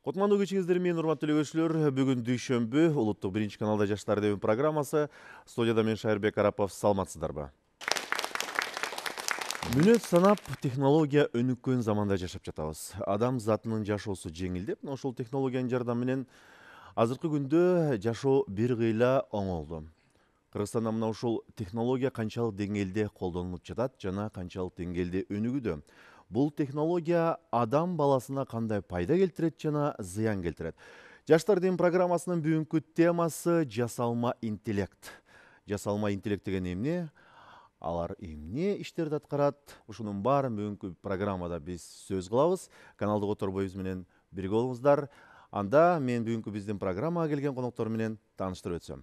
Кутмандуу кечиңиздер менен урматтуу көрүүчүлөр, бүгүн дүйшөмбү улуттук 1-каналда Жаштар деген программасы. Студияда мен Шайырбек Арапов, саламатсыздарбы? Мүнөт санап технология өнүккөн заманда жашап жатабыз. Адам затынын жашоосу жеңилдеп, ошол технологиянын жардамы менен азыркы күндө жашоо бир кыйла оңолду. Кыргызстанда мына ушул технология канчалык деңгээлде колдонулуп жатат жана канчалык деңгээлде өнүгүүдө? Бул технология адам баласына кандай пайда келтирет жана зыян келтирет? Жаштар деген программасынын бүгүнкү темасы жасалма интеллект. Жасалма интеллект деген эмне? Алар эмне иштерди аткарат? Ушунун баарын бүгүнкү программада биз сөз кылабыз. Каналдык оторбойубуз менен бирге болуңуздар. Анда мен бүгүнкү биздин программага келген коноктор менен тааныштырып өтсөм.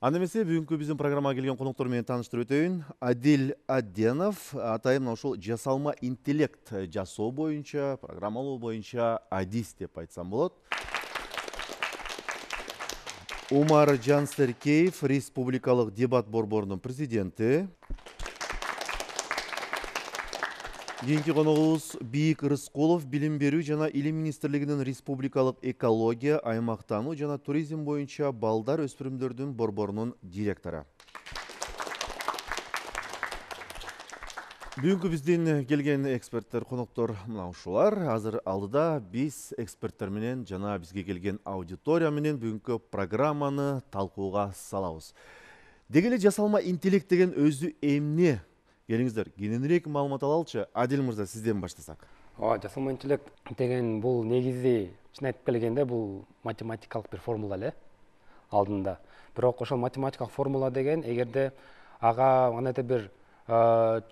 Анда эмесе бүгүнкү биздин программага келген коноктор менен тааныштырып өтөйүн. Адил Адденов атайын ушул жасалма интеллект жасоо боюнча, программалоо боюнча адис деп айтсам болот. Умар Жансеркеев, Республикалык дебат борборунун президенти. Кийинки коногубуз Бийик Рыскулов, Билим берүү жана Илим министрлигинин Республикалык экология, аймактануу жана туризм боюнча балдар өспүрүмдөрдүн борборунун директору. Бүгүнкү биздин келген эксперттер, коноктор мына ушулар. Азыр алдыда биз эксперттер менен жана бизге келген аудитория менен бүгүнкү программаны талкууга салабыз. Деги эле жасалма интеллект деген өзү эмне? Келиңиздер, кененирээк маалымат алалычы. Адил мырза, сизден баштасак. Жасалма интеллект деген бул негизи чын айтып келгенде бул математикалык бир формула эле алдында. Бирок ошол математикалык формула деген эгерде ага кандайдыр бир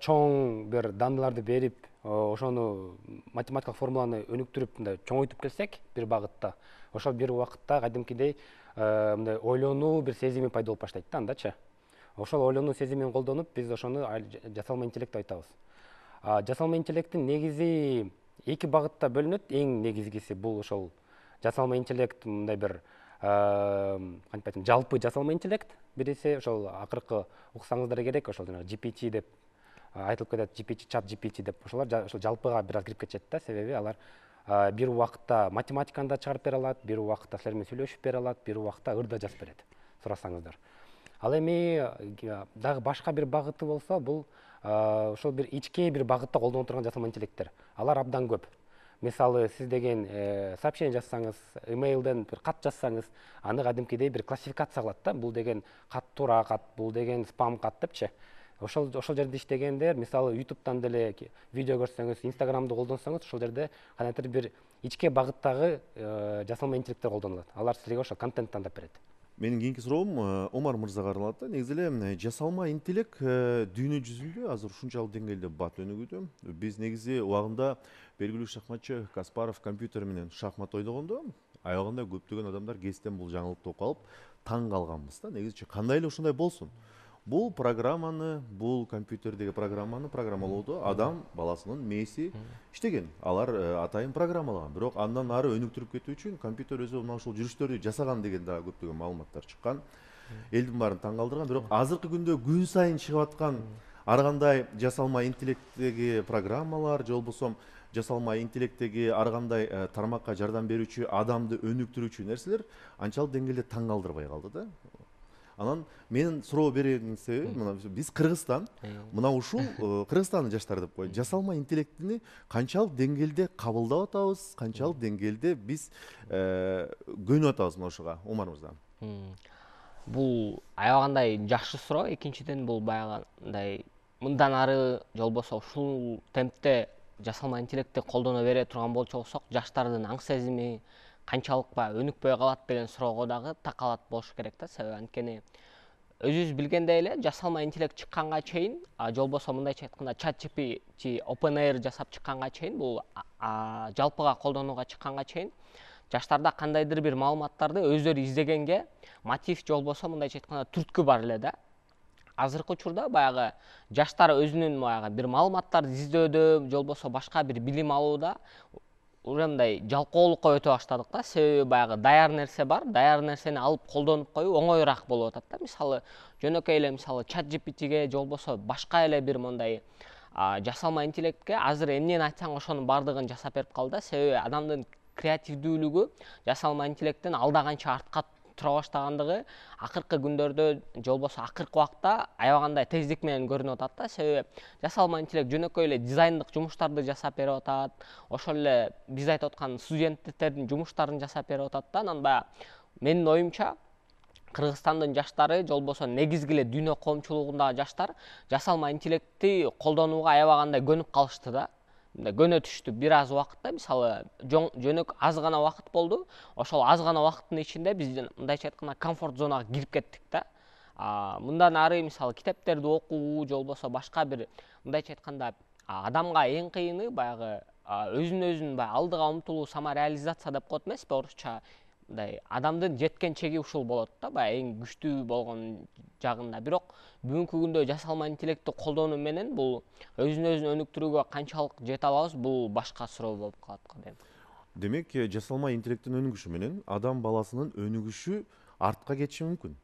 чоң бир даныларды берип, ошону математикалык формуланы өнүктүрүп мындай чоңойтуп келсек бир багытта, ошол бир убакытта кадимкидей мындай ойлонуу бир сезими пайда болуп баштайт да андачы. Ошол ойлонуу сезимин колдонуп биз ошону жасалма интеллект деп айтабыз. Жасалма интеллекттин негизи эки багытта бөлүнөт. Эң негизгиси бул ошол жасалма интеллект мындай бир кантип айтсам, жалпы жасалма интеллект. Бириси ошол акыркы уксаңыздар керек, ошол жана GPT деп айтылып кетет, GPT, чат GPT деп ошолор ошол жалпыга бир аз кирип кетишет да, себеби алар бир убакытта математиканы да чыгарып бере алат, бир убакытта силер менен сүйлөшүп бере алат, бир убакытта ыр да жазып берет, сурасаңыздар. Ал эми дагы башка бир багыты болсо, бул ошол бир ички бир багытта колдоно турган жасалма интеллекттер. Алар абдан көп. Мисалы, сиз деген сообщение жазсаңыз, имейлден бир кат жазсаңыз, аны кадимкидей бир классификация кылат да. Бул деген кат туура кат, бул деген спам кат депчи. Ошол жерде иштегендер, мисалы, YouTube'дан деле видео көрсөңүз, Instagram'ды колдонсоңуз, ошол жерде кандайдыр бир ички багыттагы жасалма интеллекттер колдонулат. Алар сизге ошол контент тандап берет. Менин кийинки суроом Омар мырзага арналат да. Негизи эле жасалма интеллект дүйнө жүзүндө азыр ушунчалык деңгээлде бат өнүгүүдө. Биз негизи убагында белгилүү шахматчы Каспаров компьютер менен шахмат ойногондо аягында көптөгөн адамдар кесиптен бул жаңылыкты окуп алып таң калганбыз да. Негизичи кандай эле ушундай болсун. Бул программаны, бул компьютердеги программаны программалоодо адам баласынын мээси иштеген. Алар атайын программалаган. Бирок андан ары өнүктүрүп кетүү үчүн компьютер өзү мына ушул жүрүштөрдү жасаган деген дагы көптөгөн маалыматтар чыккан. Элдин баарын таң калтырган. Бирок азыркы күндө күн сайын чыгып аткан ар кандай жасалма интеллекттеги программалар же болбосо жасалма интеллекттеги ар кандай тармакка жардам берүүчү, адамды өнүктүрүүчү нерселер анчалык деңгээлде таң калтырбай калды да. Анан менин суроо берүүнүн себеби мына биз Кыргызстан, мына ушул Кыргызстандын жаштары деп коеюн, жасалма интеллектини канчалык деңгээлде кабылдап атабыз, канчалык деңгээлде биз көнүп атабыз мына ушуга, Омар мырза? Бул аябагандай жакшы суроо. Экинчиден бул баягындай мындан ары же болбосо ушул темпте жасалма интеллектти колдоно бере турган болсок, жаштардын аң сезими канчалык өнүкпөй калат деген суроого дагы такалат болуш керек да. Себеби анткени өзүбүз билгендей эле жасалма интеллект чыкканга чейин, же болбосо мындайча айтканда чат GPT, OpenAI жасап чыкканга чейин, бул жалпыга колдонууга чыкканга чейин жаштарда кандайдыр бир маалыматтарды өздөрү издегенге мотив же болбосо мындайча айтканда түрткү бар эле да. Азыркы учурда баягы жаштар өзүнүн баягы бир маалыматтарды издөөдө же болбосо башка бир билим алууда уже мындай жалкоолукка өтө баштадык да. Себеби баягы даяр нерсе бар, даяр нерсени алып колдонуп коюу оңоюраак болуп атат да. Мисалы, жөнөкөй эле мисалы чат GPTге же болбосо башка эле бир мындай жасалма интеллектке азыр эмнени айтсаң ошонун баардыгын жасап берип калды да. Себеби адамдын креативдүүлүгү жасалма интеллекттен алда канча артка тура баштагандыгы акыркы күндөрдө же болбосо акыркы убакта аябагандай тездик менен көрүнүп атат да. Себеби жасалма интеллект жөнөкөй эле дизайндык жумуштарды жасап берип атат, ошол эле биз айтып аткан студенттердин жумуштарын жасап берип атат да. Анан баягы менин оюмча Кыргызстандын жаштары же болбосо негизги эле дүйнө коомчулугундагы жаштар жасалма интеллектти колдонууга аябагандай көнүп калышты да. Мындай көнө түштү бир аз убакытта. Мисалы жөнөк аз гана убакыт болду. Ошол аз гана убакыттын ичинде биз мындайча айтканда комфорт зонага кирип кеттик да. Мындан ары мисалы китептерди окуу же болбосо башка бир мындайча айтканда адамга эң кыйыны баягы өзүн баягы алдыга умтулуу, самореализация деп коет эмеспи орусча. Мындай адамдын жеткен чеги ушул болот да, баягы эң күчтүү болгон жагында. Бирок бүгүнкү күндө жасалма интеллектти колдонуу менен бул өзүн өнүктүрүүгө канчалык жете алабыз, бул башка суроо болуп калат го дейм. Демек, жасалма интеллекттин өнүгүшү менен адам баласынын өнүгүшү артка кетиши мүмкүн.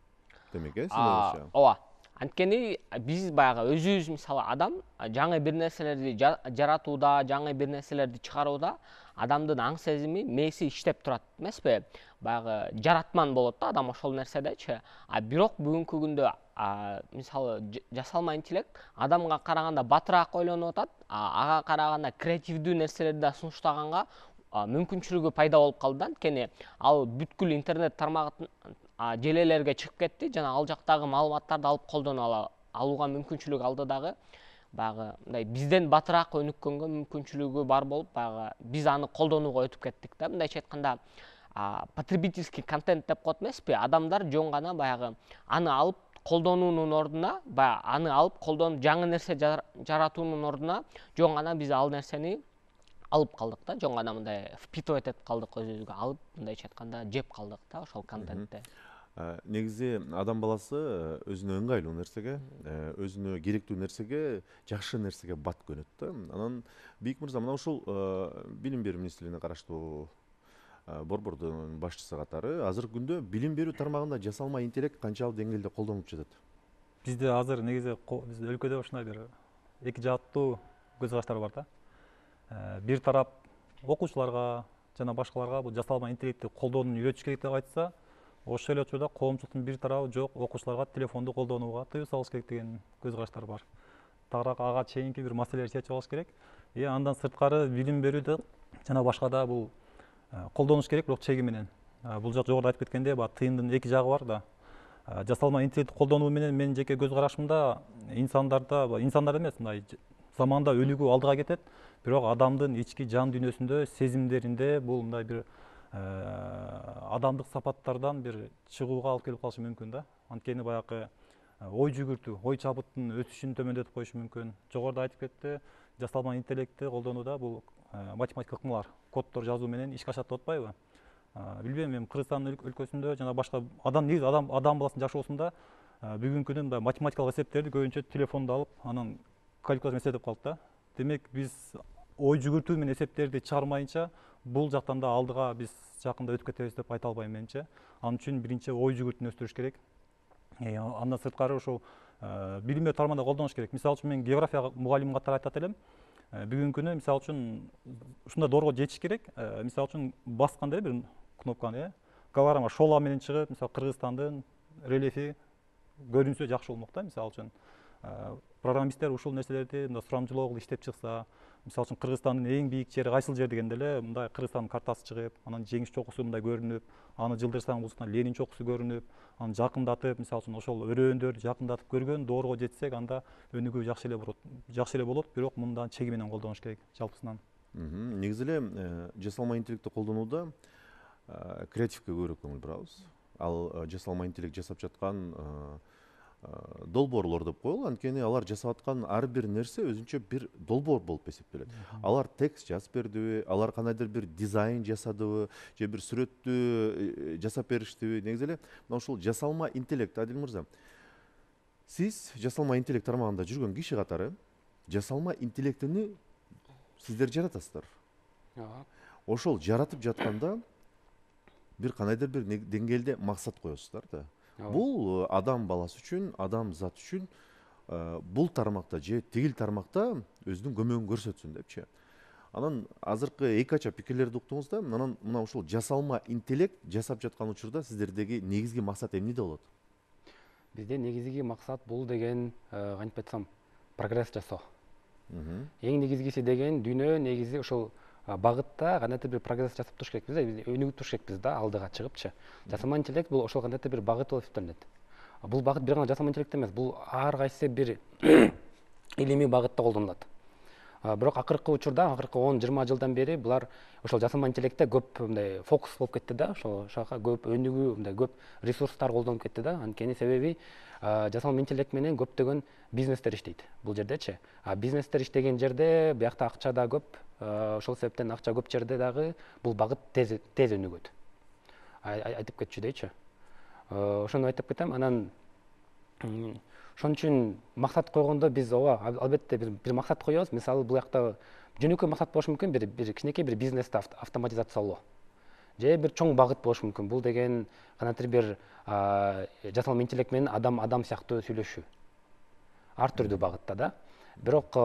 Демек, сиз ойлойсузчу? Ооба. Анткени биз баягы өзүбүз мисалы адам жаңы бир нерселерди жаратууда, жаңы бир нерселерди чыгарууда адамдын аң сезими, мээси иштеп турат эмеспи? Баягы жаратман болот да адам ошол нерседечи. Бирок бүгүнкү күндө мисалы жасалма интеллект адамга караганда батыраак ойлонуп атат, ага караганда креативдүү нерселерди да сунуштаганга мүмкүнчүлүгү пайда болуп калды. Анткени ал бүткүл интернет тармагын желелерге чыгып кетти жана ал жактагы маалыматтарды алып колдоно алууга мүмкүнчүлүк алды дагы. Баягы мындай бизден батыраак өнүккөнгө мүмкүнчүлүгү бар болуп, баягы биз аны колдонууга өтүп кеттик да. Мындайча айтканда потребительский контент деп коет эмеспи? Адамдар жөн гана баягы аны алып колдонуунун ордуна, баягы аны алып колдонуп жаңы нерсе жаратуунун ордуна жөн гана биз ал нерсени алып калдык да. Жөн гана мындай впитывать этип калдык, өзүбүзгө алып, мындайча айтканда жеп калдык да ошол контентти. Негизи адам баласы өзүнө ыңгайлуу нерсеге, өзүнө керектүү нерсеге, жакшы нерсеге бат көнөт да. Анан Бийик мырза, мына ушул билим берүү министрлигине караштуу борбордун башчысы катары азыркы күндө билим берүү тармагында жасалма интеллект канчалык деңгээлде колдонулуп жатат? Бизде азыр негизи биздин өлкөдө ушундай бир эки жааттуу көз караштар бар да. Бир тарап окуучуларга жана башкаларга бул жасалма интеллектти колдонууну үйрөтүш керек деп айтса, ошол эле учурда коомчулуктун бир тарабы жок, окуучуларга телефонду колдонууга тыюу салыш керек деген көз караштар бар. Тагыраак ага чейинки бир маселелерди чечип алыш керек. Андан сырткары билим берүүдө жана башкада бул колдонуш керек, бирок чеги менен. Бул жак жогоруда айтып кеткендей, тыйындын эки жагы бар да. Жасалма интеллектти колдонуу менен менин жеке көз карашымда инсандар эмес, мындай заманда өнүгүү алдыга кетет, бирок адамдын ички жан дүйнөсүндө, сезимдеринде бул мындай бир адамдык сапаттардан бир чыгууга алып келип калышы мүмкүн да. Анткени баягы ой жүгүртүү, ой чабыттын өсүшүн төмөндөтүп коюшу мүмкүн. Жогоруда айтып кетти, жасалма интеллектти колдонууда бул математикалык ыкмалар, коддор жазуу менен ишке ашат деп атпайбы? Билбейм, эми Кыргызстан өлкөсүндө жана башка адам баласынын жашоосунда бүгүнкү күндө мындай математикалык эсептерди көбүнчө телефондо алып, анан калькулятор менен эсептеп калат да. Демек биз ой жүгүртүү менен эсептерди чыгармайынча бул жактан да алдыга биз жакында өтүп кетебиз деп айта албайм менимче. Ал үчүн биринчи ой жүгүртүүнү өстүрүш керек. Андан сырткары ушул билим берүү тармагында колдонуш керек. Мисалы үчүн мен география мугалими катары айтат элем. Бүгүнкү күнү мисалы үчүн ушундай доорго жетиш керек. Мисалы үчүн басканда бир кнопканы, голограмма шола менен чыгып, мисалы Кыргызстандын рельефи көрүнсө жакшы болмок да. Мисалы үчүн программисттер ушул нерселерди мындай сурамжылоо кылып иштеп чыкса, мисалы үчүн Кыргызстандын эң бийик жери кайсыл жер дегенде эле мындай Кыргызстандын картасы чыгып, анан жеңиш чокусу мындай көрүнүп, аны жылдырсаң бул Ленин чокусу көрүнүп, аны жакындатып, мисалы үчүн ошол өрөөндөрдү жакындатып көргөн доорго жетсек, анда өнүгүү жакшы эле болот, бирок мындан чеги менен колдонуш керек жалпысынан. Негизи эле жасалма интеллектти колдонууда креативге көбүрөөк көңүл бурабыз. Ал жасалма интеллект жасап жаткан долбоорлор деп коелу, анткени алар жасап аткан ар бир нерсе өзүнчө бир долбоор болуп эсептелет. Алар текст жазып бердиби, алар кандайдыр бир дизайн жасадыбы, же бир сүрөттү жасап бериштиби? Негизи эле мына ушул жасалма интеллект, Адил мырза, сиз жасалма интеллект тармагында жүргөн киши катары жасалма интеллектини сиздер жаратасыздар. Ошол жаратып жатканда бир кандайдыр бир деңгээлде максат коесуздар да. Бул адам баласы үчүн, адам зат үчүн бул тармакта же тигил тармакта өзүнүн көмөгүн көрсөтсүн депчи. Анан азыркы эки кача пикирлерди уктуңуз да, анан мына ушул жасалма интеллект жасап жаткан учурда сиздердеги негизги максат эмнеде болот? Бизде негизги максат бул деген кантип айтсам прогресс жасоо. Эң негизгиси деген дүйнө негизи ошол багытта кандайдыр бир прогресс жасап туруш керекпиз да, биз өнүгүп туруш керекпиз да, алдыга чыгыпчы. Жасалма интеллект бул ошол кандайдыр бир багыт болуп эсептелинет. Бул багыт бир гана жасалма интеллект эмес, бул ар кайсы бир илимий багытта колдонулат. Бирок акыркы учурда, акыркы 10-20 жылдан бери булар ошол жасалма интеллектте көп мындай фокус болуп кетти да, ошол жака көп өнүгүү, мындай көп ресурстар колдонуп кетти да. Анткени себеби жасалма интеллект менен көптөгөн бизнестер иштейт бул жердечи. Бизнестер иштеген жерде биякта акча да көп, ошол себептен акча көп жерде дагы бул багыт тез өнүгөт. Айтып кетчү дейчи. Ошону айтып кетем. Анан ошон үчүн максат койгондо биз албетте бир максат коебуз. Мисалы бул жакта жөнөкөй максат болушу мүмкүн, бир кичинекей бир бизнести автоматизациялоо. Же бир чоң багыт болушу мүмкүн. Бул деген кандайдыр бир жасалма интеллект менен адам сыяктуу сүйлөшүү. Ар түрдүү багытта да. Бирок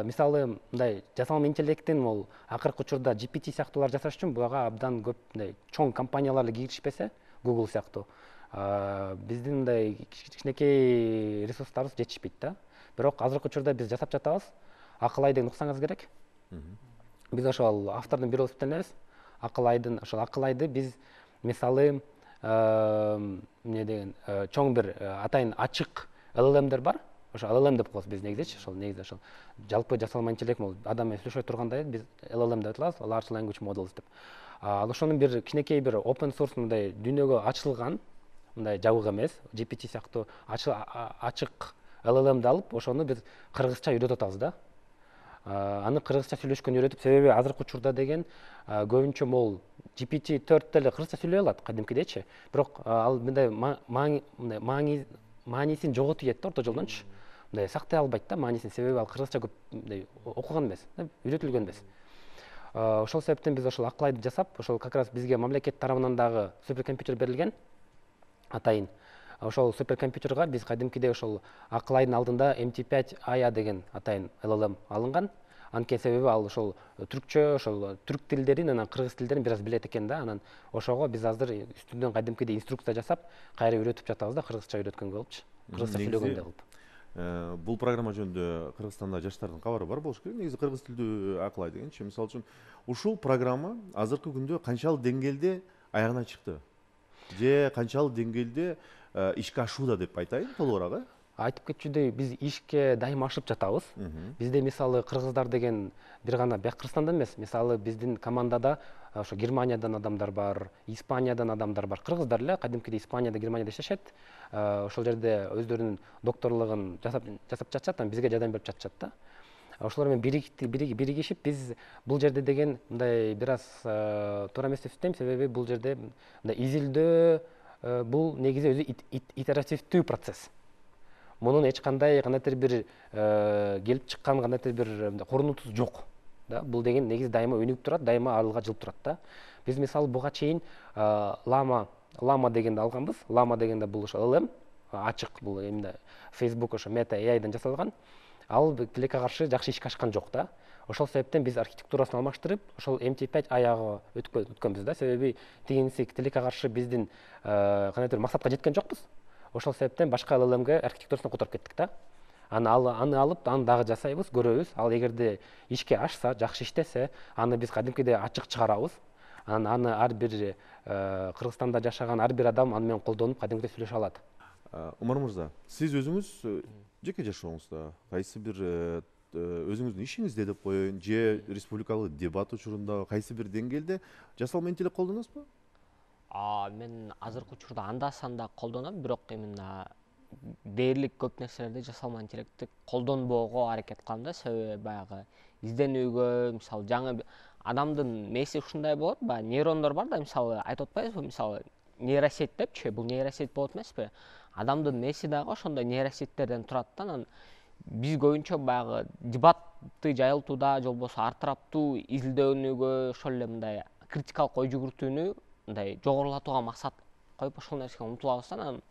мисалы мындай жасалма интеллекттин бул акыркы учурда GPT сыяктуулар жасаш үчүн буга абдан көп мындай чоң компаниялар киришпесе, Google сыяктуу, биздин мындай кичинекей ресурстарыбыз жетишпейт да. Бирок азыркы учурда биз жасап жатабыз. Акыл ай деген уксаңыз керек. Биз ошол автордун бири болуп эсептелебиз. Ошол акыл айды биз мисалы эмне деген чоң бир атайын ачык LLMдер бар. Ошо LLM деп коебуз биз негизи, ошол жалпы жасалма интеллект бул адам менен сүйлөшө тургандай биз LLM деп атабыз, Large Language Models деп. Ал ошонун бир кичинекей бир open source мындай дүйнөгө ачылган, мындай жабык эмес, GPT сыяктуу ачык LLMди алып, ошону биз кыргызча үйрөтүп атабыз да. Аны кыргызча сүйлөшкөн үйрөтүп, себеби азыркы учурда деген көбүнчө могул GPT-4 деле кыргызча сүйлөй алат кадимкидечи. Бирок ал мындай маанисин жоготуп кетти да орто жолдончу. Мындай сактай албайт да маанисин, себеби ал кыргызча көп мындай окуган эмес, үйрөтүлгөн эмес. Ошол себептен биз ошол акыл айды жасап, ошол как раз бизге мамлекет тарабынан дагы суперкомпьютер берилген атайын. Ошол суперкомпьютерга биз кадимкидей ошол акыл айдын алдында MT5 AIA деген атайын LLM алынган. Анткени себеби ал ошол түркчө, ошол түрк тилдерин, анан кыргыз тилдерин бир аз билет экен да. Анан ошого биз азыр үстүнөн кадимкидей инструкция жасап, кайра үйрөтүп жатабыз да, кыргызча үйрөткөнгө болупчу. Кыргызча сүйлөгөнгө болуп. Бул программа жөнүндө Кыргызстанда жаштардын кабары бар болуш керек. Негизи кыргыз тилдүү акыл ай дегенчи. Мисалы үчүн ушул программа азыркы күндө канчалык деңгээлде аягына чыкты? Же канчалык деңгээлде ишке ашууда деп айтайын толугураак, Айтып кетчүдөй, биз ишке дайыма ашып жатабыз. Бизде мисалы кыргыздар деген бир гана Кыргызстанда эмес, мисалы биздин командада ошо Германиядан адамдар бар, Испаниядан адамдар бар. Кыргыздар эле кадимкидей Испанияда, Германияда иштешет. Ошол жерде өздөрүнүн докторлугун жасап жатышат, анан бизге жардам берип жатышат да. Ошолор менен биригишип биз бул жерде деген мындай бир аз туура эмес деп эсептейм, себеби бул жерде мындай изилдөө бул негизи өзү итеративдүү процесс. Мунун эч кандай кандайдыр бир келип чыккан кандайдыр бир корунутусу жок да. Бул деген негизи дайыма өнүгүп турат, дайыма алдыга жылып турат да. Биз мисалы буга чейин Lama дегенди алганбыз. Lama дегенде бул ошо LLM ачык, бул эмне Facebook ошо Meta AI'дан жасалган. Ал тилекке каршы жакшы ишке ашкан жок да. Ошол себептен биз архитектурасын алмаштырып, ошол MT5 AI'га өткөнбүз да. Себеби тигинси тилекке каршы биздин кандайдыр максатка жеткен жокпуз. Ошол себептен башка LLMге архитектурасын которуп кеттик да. Аны алып, аны дагы жасайбыз, көрөбүз. Ал эгерде ишке ашса, жакшы иштесе, аны биз кадимкидей ачык чыгарабыз. Аны ар бир Кыргызстанда жашаган ар бир адам аны менен колдонуп кадимкидей сүйлөшө алат. Умар мырза, сиз өзүңүз жеке жашооңузда кайсы бир өзүңүздүн ишиңизде деп коеюн, же республикалык дебат учурунда кайсы бир деңгээлде жасалма интеллект колдоносузбу? Мен азыркы учурда анда-санда колдоном, бирок именно дээрлик көп нерселерди жасалма интеллектти колдонбоого аракет кылам да. Себеби баягы изденүүгө, мисалы жаңы адамдын мээси ушундай болот, баягы нейрондор бар да, мисалы айтып атпайбызбы, мисалы нейросеть депчи, бул нейросеть болот эмеспи? Адамдын мээси дагы ошондой нейросеттерден турат да. Анан биз көбүнчө баягы дебатты жайылтууда, же болбосо ар тараптуу изилдөөнүгө, ошол эле мындай критикалык ой жүгүртүүнү мындай жогорулатууга максат коюп ошол нерсеге умтулабыз да. Анан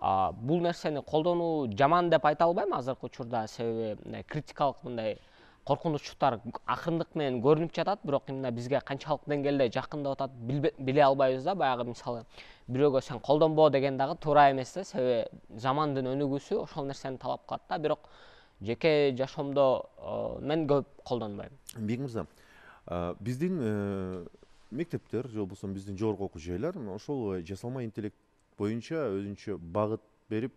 Бул нерсени колдонуу жаман деп айта албайм азыркы учурда, себеби мындай критикалык мындай коркунучтар акырындык менен көрүнүп жатат, бирок именно бизге канчалык деңгээлде жакындап атат биле албайбыз да. Баягы мисалы бирөөгө сен колдонбо деген дагы туура эмес да, себеби замандын өнүгүүсү ошол нерсени талап кылат да. Бирок жеке жашоомдо мен көп колдонбойм. Бек мырза, биздин мектептер же болбосо биздин жогорку окуу жайлар ошол жасалма интеллект боюнча өзүнчө багыт берип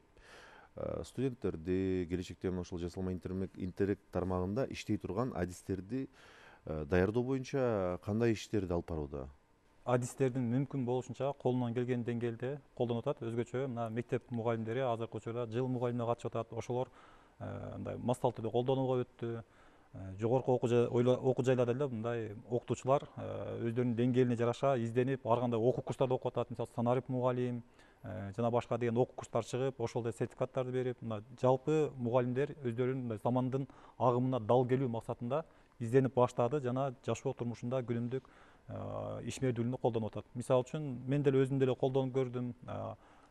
студенттерди келечекте ошол жасалма интеллект тармагында иштей турган адистерди даярдоо боюнча кандай иштерди алып барууда? Адистердин мүмкүн болушунча колунан келген деңгээлде колдонуп атат. Өзгөчө мына мектеп мугалимдери азыркы учурда жыл мугалимине катышып атат. Ошолор мындай массалык түрдө колдонууга өттү. Жогорку окуу жайларда эле мындай окутуучулар өздөрүнүн деңгээлине жараша изденип, ар кандай окуу курстарда окуп атат. Мисалы санарип мугалим жана башка деген окуу курстар чыгып, ошол эле сертификаттарды берип, мына жалпы мугалимдер өздөрүнүн мындай замандын агымына дал келүү максатында изденип баштады жана жашоо турмушунда күнүмдүк ишмердүүлүгүндө колдонуп атат. Мисалы үчүн мен деле өзүм деле колдонуп көрдүм.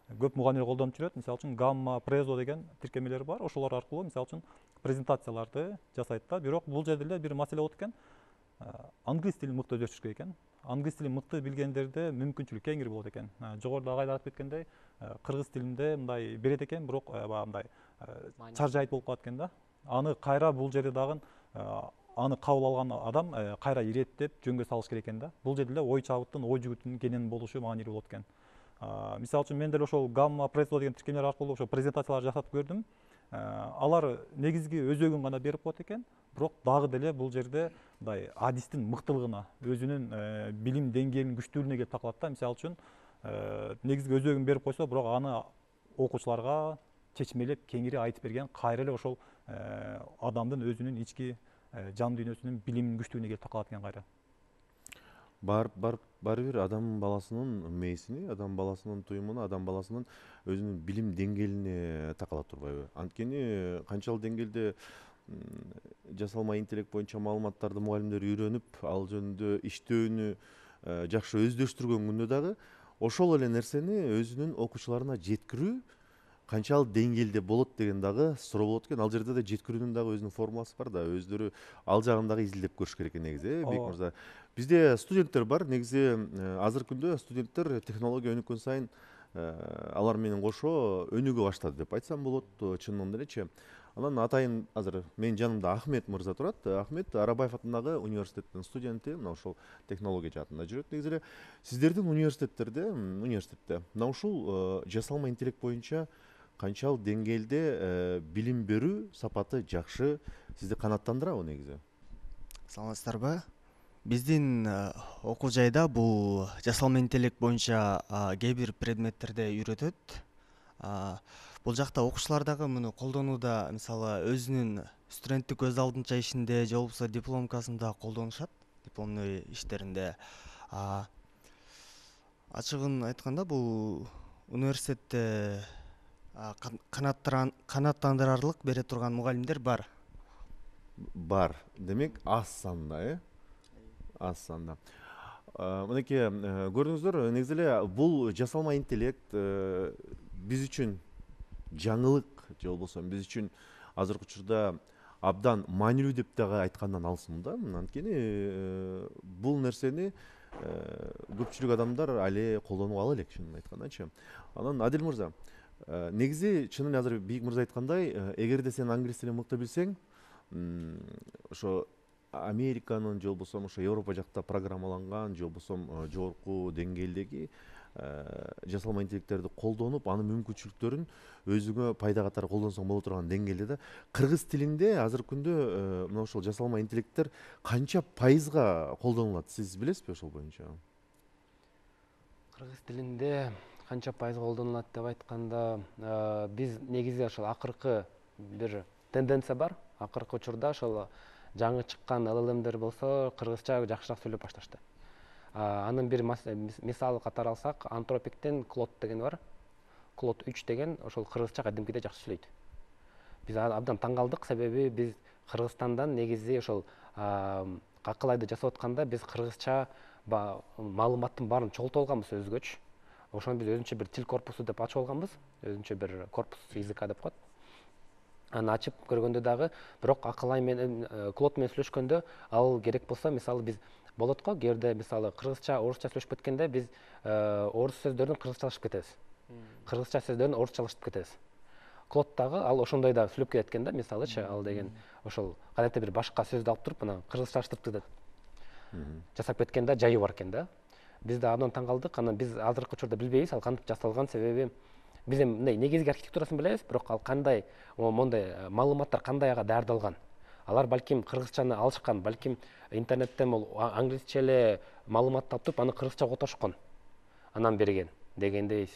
Көп мугалимдер колдонуп жүрөт. Мисалы үчүн Gamma, Prezo деген тиркемелер бар. Ошолор аркылуу мисалы үчүн презентацияларды жасайт да. Бирок бул жерде эле бир маселе болот экен. Англис тилин мыкты өздөштүрүш керек экен. Англис тилин мыкты билгендерде мүмкүнчүлүк кеңири болот экен. Жогоруда агай айтып кеткендей, кыргыз тилинде мындай берет экен, бирок баягы мындай чаржайыт болуп калат экен да. Аны кайра бул жерде дагы аны кабыл алган адам кайра иреттеп жөнгө салыш керек экен да. Бул жерде эле ой чабыттын, ой жүгүтүнүн кенен болушу маанилүү болот экен. Мисалы үчүн мен деле ошол Gamma, Prezo деген тиркемелер аркылуу ошо презентациялар жасатып көрдүм. Алар негизги өзөгүн гана берип коет экен, бирок дагы деле бул жерде мындай адистин мыктылыгына, өзүнүн билим деңгээлинин күчтүүлүгүнө келип такылат да. Мисалы үчүн негизги өзөгүн берип койсо, бирок аны окуучуларга чечмелеп кеңири айтып берген кайра эле ошол адамдын өзүнүн ички жан дүйнөсүнүн билиминин күчтүүлүгүнө келип такалат экен кайра. Баары бир адам баласынын мээсине, адам баласынын туюмуна, адам баласынын өзүнүн билим деңгээлине такала турбайбы? Анткени канчалык деңгээлде жасалма интеллект боюнча маалыматтарды мугалимдер үйрөнүп, ал жөнүндө иштөөнү жакшы өздөштүргөн күндө дагы ошол эле нерсени өзүнүн окуучуларына жеткирүү канчалык деңгээлде болот деген дагы суроо болот экен. Ал жерде да жеткирүүнүн дагы өзүнүн формуласы бар да, өздөрү ал жагын дагы изилдеп көрүш керек экен негизи, Бек мырза. Бизде студенттер бар. Негизи азыркы күндө студенттер технология өнүккөн сайын алар менен кошо өнүгө баштады деп айтсам болот, чынында делечи. Анан атайын азыр менин жанымда Ахмет мырза турат. Ахмет Арабаев атындагы университеттин студенти, мына ошол технология жаатында жүрөт. Негизи эле сиздердин университетте мына ушул жасалма интеллект боюнча канчалык деңгээлде билим берүү сапаты жакшы, сизди канааттандырабы негизи? Саламатсыздарбы? Биздин окуу жайда бул жасалма интеллект боюнча кээ бир предметтерде үйрөтөт. Бул жакта окуучулар дагы муну колдонууда, мисалы өзүнүн студенттик көз алдынча ишинде же болбосо дипломкасында колдонушат, дипломный иштеринде. Ачыгын айтканда бул университетте канааттандырарлык бере турган мугалимдер бар. Демек аз санда, аз санда. Мынакей көрдүңүздөр, негизи эле бул жасалма интеллект биз үчүн жаңылык же болбосо биз үчүн азыркы учурда абдан маанилүү деп дагы айткандан алысмын да. Анткени бул нерсени көпчүлүк адамдар али колдонуп ала элек, чынын айткандачы. Анан Адил мырза, негизи чынын эле азыр Бийик мырза айткандай, эгерде сен англис тилин мыкты билсең, ошо Американын же болбосо ошо Европа жакта программаланган же болбосо жогорку деңгээлдеги жасалма интеллекттерди колдонуп, анын мүмкүнчүлүктөрүн өзүңө пайда катары колдонсоң боло турган деңгээлде да. Кыргыз тилинде азыркы күндө мына ошол жасалма интеллекттер канча пайызга колдонулат, сиз билесизби ошол боюнча? Кыргыз тилинде канча пайызга колдонулат деп айтканда, биз негизи ошол акыркы бир тенденция бар. Акыркы учурда ошол жаңы чыккан LLM'дер болсо кыргызча жакшыраак сүйлөп башташты. Анын бир мисалы катары алсак, Антропиктен Клод деген бар. Клод 3 деген ошол кыргызча кадимкидей жакшы сүйлөйт. Биз абдан таң калдык, себеби биз Кыргызстандан негизи ошол акыл айды жасап атканда биз кыргызча маалыматтын баарын чогултуп алганбыз өзгөчө. ошону биз өзүнчө бир тил корпусу деп ачып алганбыз, өзүнчө бир корпус языка деп коет. Аны ачып көргөндө дагы, бирок акыл ай менен Клод менен сүйлөшкөндө ал керек болсо, мисалы биз болот го, кээде мисалы кыргызча, орусча сүйлөшүп кеткенде биз орус сөздөрүн кыргызчалашып кетебиз. Кыргызча сөздөрүн орусчалашып кетебиз. Клод дагы ал ошондой да сүйлөп кетет экен да, мисалычы, ал деген ошол кадетте бир башка сөздү алып туруп, анан кыргызчалаштырып жасап кеткен да, жайы бар экен да. Биз да андан таң калдык. Анан биз азыркы учурда билбейбиз ал кантип жасалган, себеби биз эми мындай негизги архитектурасын билебиз, бирок ал кандай, мондай маалыматтар кандай ага даярдалган. Алар балким кыргызчаны алышкан, балким интернеттен англисче эле маалыматты алып туруп, аны кыргызчага отошкон. Анан берген дегендей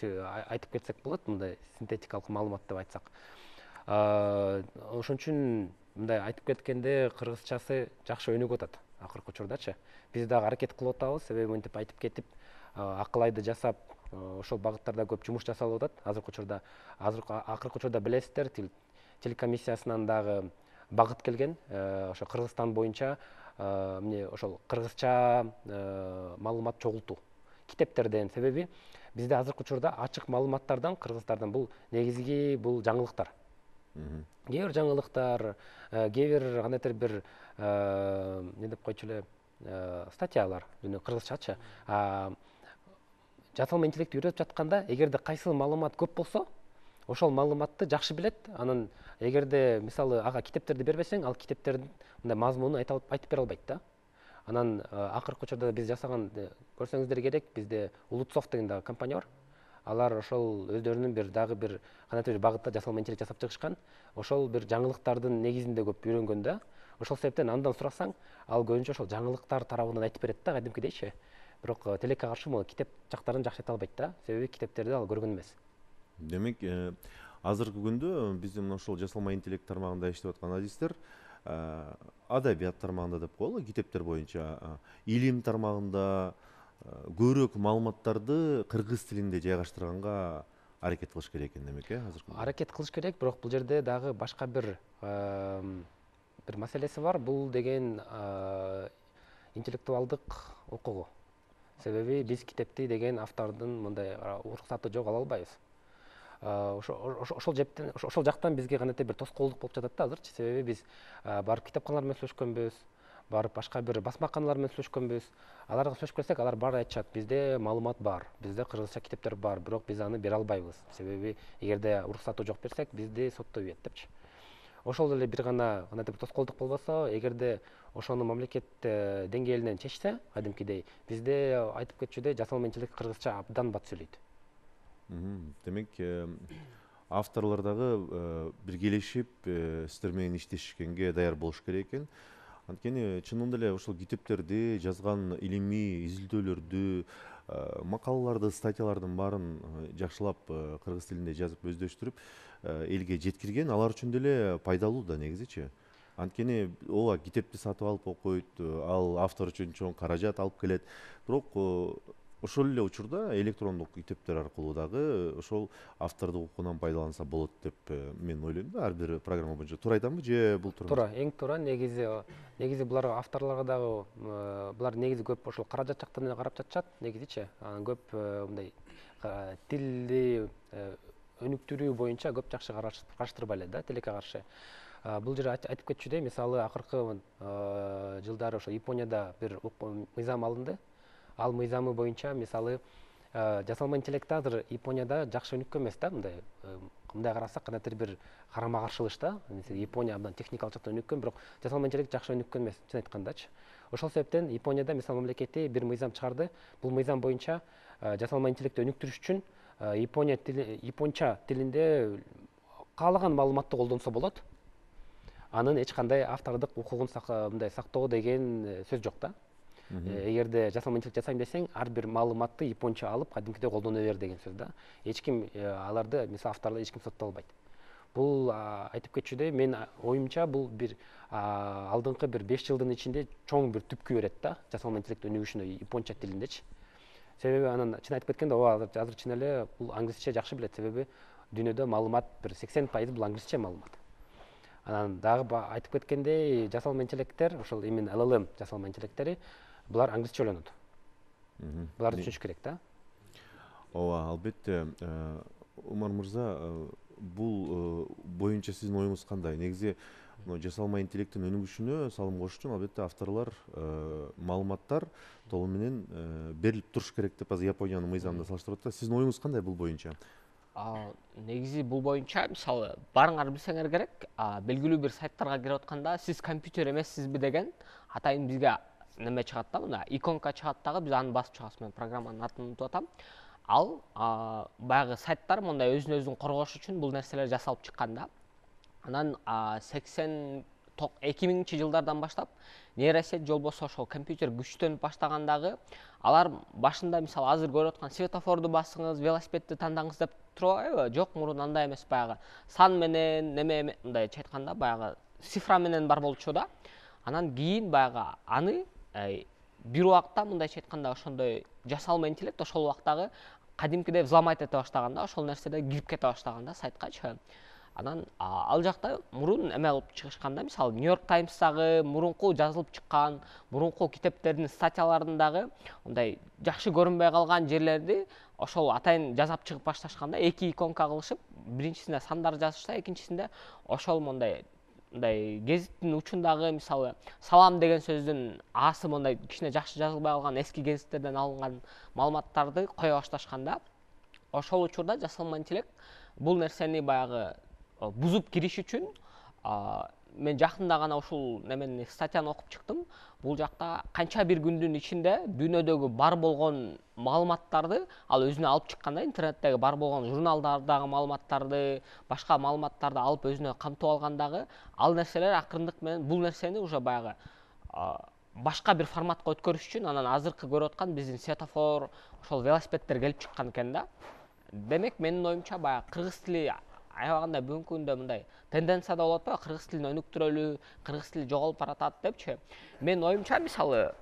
айтып кетсек болот, мындай синтетикалык маалымат деп айтсак. Ошон үчүн мындай айтып кеткенде кыргызчасы жакшы өнүгүп атат акыркы учурдачы. Биз дагы аракет кылып атабыз, себеби мынтип айтып кетип, акыл айды жасап, ошол багыттарда көп жумуш жасалып атат. Акыркы учурда билесиздер, тил комиссиясынан дагы багыт келген, ошо Кыргызстан боюнча эмне ошол кыргызча маалымат чогултуу китептерден, себеби бизде азыркы учурда ачык маалыматтардан кыргыздардын бул негизги бул жаңылыктар. Кээ бир жаңылыктар, кээ бир кандайдыр бир эмне деп койчу эле статьялар, кыргызчачы. Жасалма интеллект үйрөтүп жатканда, эгерде кайсы маалымат көп болсо, ошол маалыматты жакшы билет. Анан эгерде мисалы ага китептерди бербесең, ал китептердин мындай мазмунун айтып бере албайт да. Анан акыркы учурда биз жасаган, көрсөңүздөр керек, бизде Улутсов деген дагы компания бар. Алар ошол өздөрүнүн дагы бир кандайдыр бир багытта жасалма интеллект жасап чыгышкан. Ошол бир жаңылыктардын негизинде көп үйрөнгөн да. Ошол себептен андан сурасаң, ал көбүнчө ошол жаңылыктар тарабынан айтып берет да, кадимкидейчи. Бирок тилекке каршы могу китеп жактарын жакшы айта албайт да, себеби китептерди ал көргөн эмес. Демек, азыркы күндө биздин мына ошол жасалма интеллект тармагында иштеп аткан адистер адабият тармагында деп коелу, китептер боюнча илим тармагында көбүрөөк маалыматтарды кыргыз тилинде жайгаштырганга аракет кылыш керек экен демек, азыркы. Аракет кылыш керек, бирок бул жерде дагы башка бир маселеси бар. Бул деген интеллектуалдык укугу. Себеби биз китепти деген автордун мындай уруксаты жок ала албайбыз. Ошол жактан бизге кандайдыр бир тоскоолдук болуп жатат да азырчы, себеби биз барып китепканалар менен сүйлөшкөнбүз, барып башка бир басмаканалар менен сүйлөшкөнбүз. Аларга сүйлөшүп келсек, алар баары айтышат, бизде маалымат бар, бизде кыргызча китептер бар, бирок биз аны бере албайбыз. Себеби эгерде уруксаты жок берсек, бизди соттой ийет депчи. Ошол эле бир гана кандайдыр тоскоолдук болбосо, эгерде ошону мамлекет деңгээлинен чечсе, кадимкидей, бизде айтып кетчүдөй жасалма интеллект кыргызча абдан бат сүйлөйт. Демек, авторлор дагы биргелешип сиздер менен иштешкенге даяр болуш керек экен. Анткени чынында эле ошол китептерди жазган илимий изилдөөлөрдү, макалаларды, статьялардын баарын жакшылап кыргыз тилинде жазып өздөштүрүп элге жеткирген, алар үчүн деле пайдалуу да негизичи. Анткени ооба китепти сатып алып окуйт, ал автор үчүн чоң каражат алып келет. Бирок ошол эле учурда электрондук китептер аркылуу дагы ошол автордук укугунан пайдаланса болот деп мен ойлойм да. Ар бир программа боюнча туура айтамбы же бул туура? Туура, эң туура. Негизи булар авторлорго дагы булар негизи көп ошол каражат жактан эле карап жатышат, негизичи. Анан көп мындай тилди өнүктүрүү боюнча көп жакшы караштырбай эле да, тилекке каршы. Бул жерде айтып кетчүдөй, мисалы акыркы жылдары ошо Японияда бир мыйзам алынды. Ал мыйзамы боюнча мисалы жасалма интеллект азыр Японияда жакшы өнүккөн эмес да, мындай карасак кандайдыр бир карама каршылык да. Япония абдан техникалык жактан өнүккөн, бирок жасалма интеллект жакшы өнүккөн эмес, чын айткандачы. Ошол себептен Японияда мисалы мамлекети бир мыйзам чыгарды. Бул мыйзам боюнча жасалма интеллектти өнүктүрүш үчүн японча тилинде каалаган маалыматты колдонсо болот. Анын эч кандай автордук укугун сактоо деген сөз жок да. Эгерде жасалма интеллект жасайм десең, ар бир маалыматты японча алып, кадимкидей колдоно бер деген сөз да. Эч ким аларды, мисалы авторлорду эч ким сотто албайт. Бул айтып кетчүдөй, мен оюмча бул бир алдыңкы бир 5 жылдын ичинде чоң бир түпкү берет да, жасалма интеллект өнүгүшүнө японча тилиндечи. Себеби анан чын айтып кеткенде, азыр чын эле бул англисче жакшы билет, себеби дүйнөдө маалымат бир 80% бул англисче маалымат. Анан дагы айтып кеткендей, жасалма интеллекттер, ошол именно LLM жасалма интеллекттери, булар англисче ойлонот. Буларды түшүнүш керек да. ооба, албетте. Умар мырза, бул боюнча сиздин оюңуз кандай? Негизи жасалма интеллекттин өнүгүшүнө салым кошуш үчүн албетте авторлор маалыматтар толугу менен берилип туруш керек деп азыр Япониянын мыйзамында салыштырып атат. Сиздин оюңуз кандай бул боюнча? Негизи бул боюнча мисалы барыңар билсеңер керек, белгилүү бир сайттарга кирип атканда сиз компьютер эмессизби деген атайын бизге неме чыгат да, мына иконка чыгат дагы, биз аны басып чыгабыз. Мен программанын атын унутуп атам. Ал баягы сайттар мындай өзүн өзүн коргош үчүн бул нерселер жасалып чыккан да. Анан 2000 жылдардан баштап нейросеть же болбосо ошол компьютер күчтөнүп баштагандагы алар башында мисалы азыр көрүп аткан светофорду басыңыз, велосипедти тандаңыз деп турбайбы? Жок, мурун андай эмес, баягы сан менен неме мындайча айтканда баягы цифра менен бар болчу да. Анан кийин баягы аны бир убакта мындайча айтканда ошондой жасалма интеллект ошол убактагы кадимкидей взломать эте баштаган да, ошол нерседе кирип кете баштаган да сайткачы. Анан ал жакта мурун эме кылып чыгышканда, мисалы Нью-Йорк Таймстагы мурунку жазылып чыккан, мурунку китептердин статьяларындагы мындай жакшы көрүнбөй калган жерлерди ошол атайын жазап чыгып башташканда, эки иконка кылышып, биринчисинде сандар жазышса, экинчисинде ошол мындай гезиттин учундагы мисалы салам деген сөздүн аасы мындай кичине жакшы жазылбай калган эски гезиттерден алынган маалыматтарды кое башташканда, ошол учурда жасалма интеллект бул нерсени баягы бузуп кириш үчүн мен жакында гана ушул немени статьяны окуп чыктым. Бул жакта канча бир күндүн ичинде дүйнөдөгү бар болгон маалыматтарды ал өзүнө алып чыккан да, интернеттеги бар болгон журналдардагы маалыматтарды, башка маалыматтарды алып өзүнө камтып алгандагы ал нерселер акырындык менен бул нерсени уже баягы башка бир форматка өткөрүш үчүн анан азыркы көрүп аткан биздин светофор, ошол велосипедтер келип чыккан экен да. Демек менин оюмча баягы кыргыз тили аябагында бүгүнкү күндө мындай тенденцияда болуп атпайбы, кыргыз тилин өнүктүрөлү, кыргыз тили жоголуп баратат депчи. Менин оюмча мисалы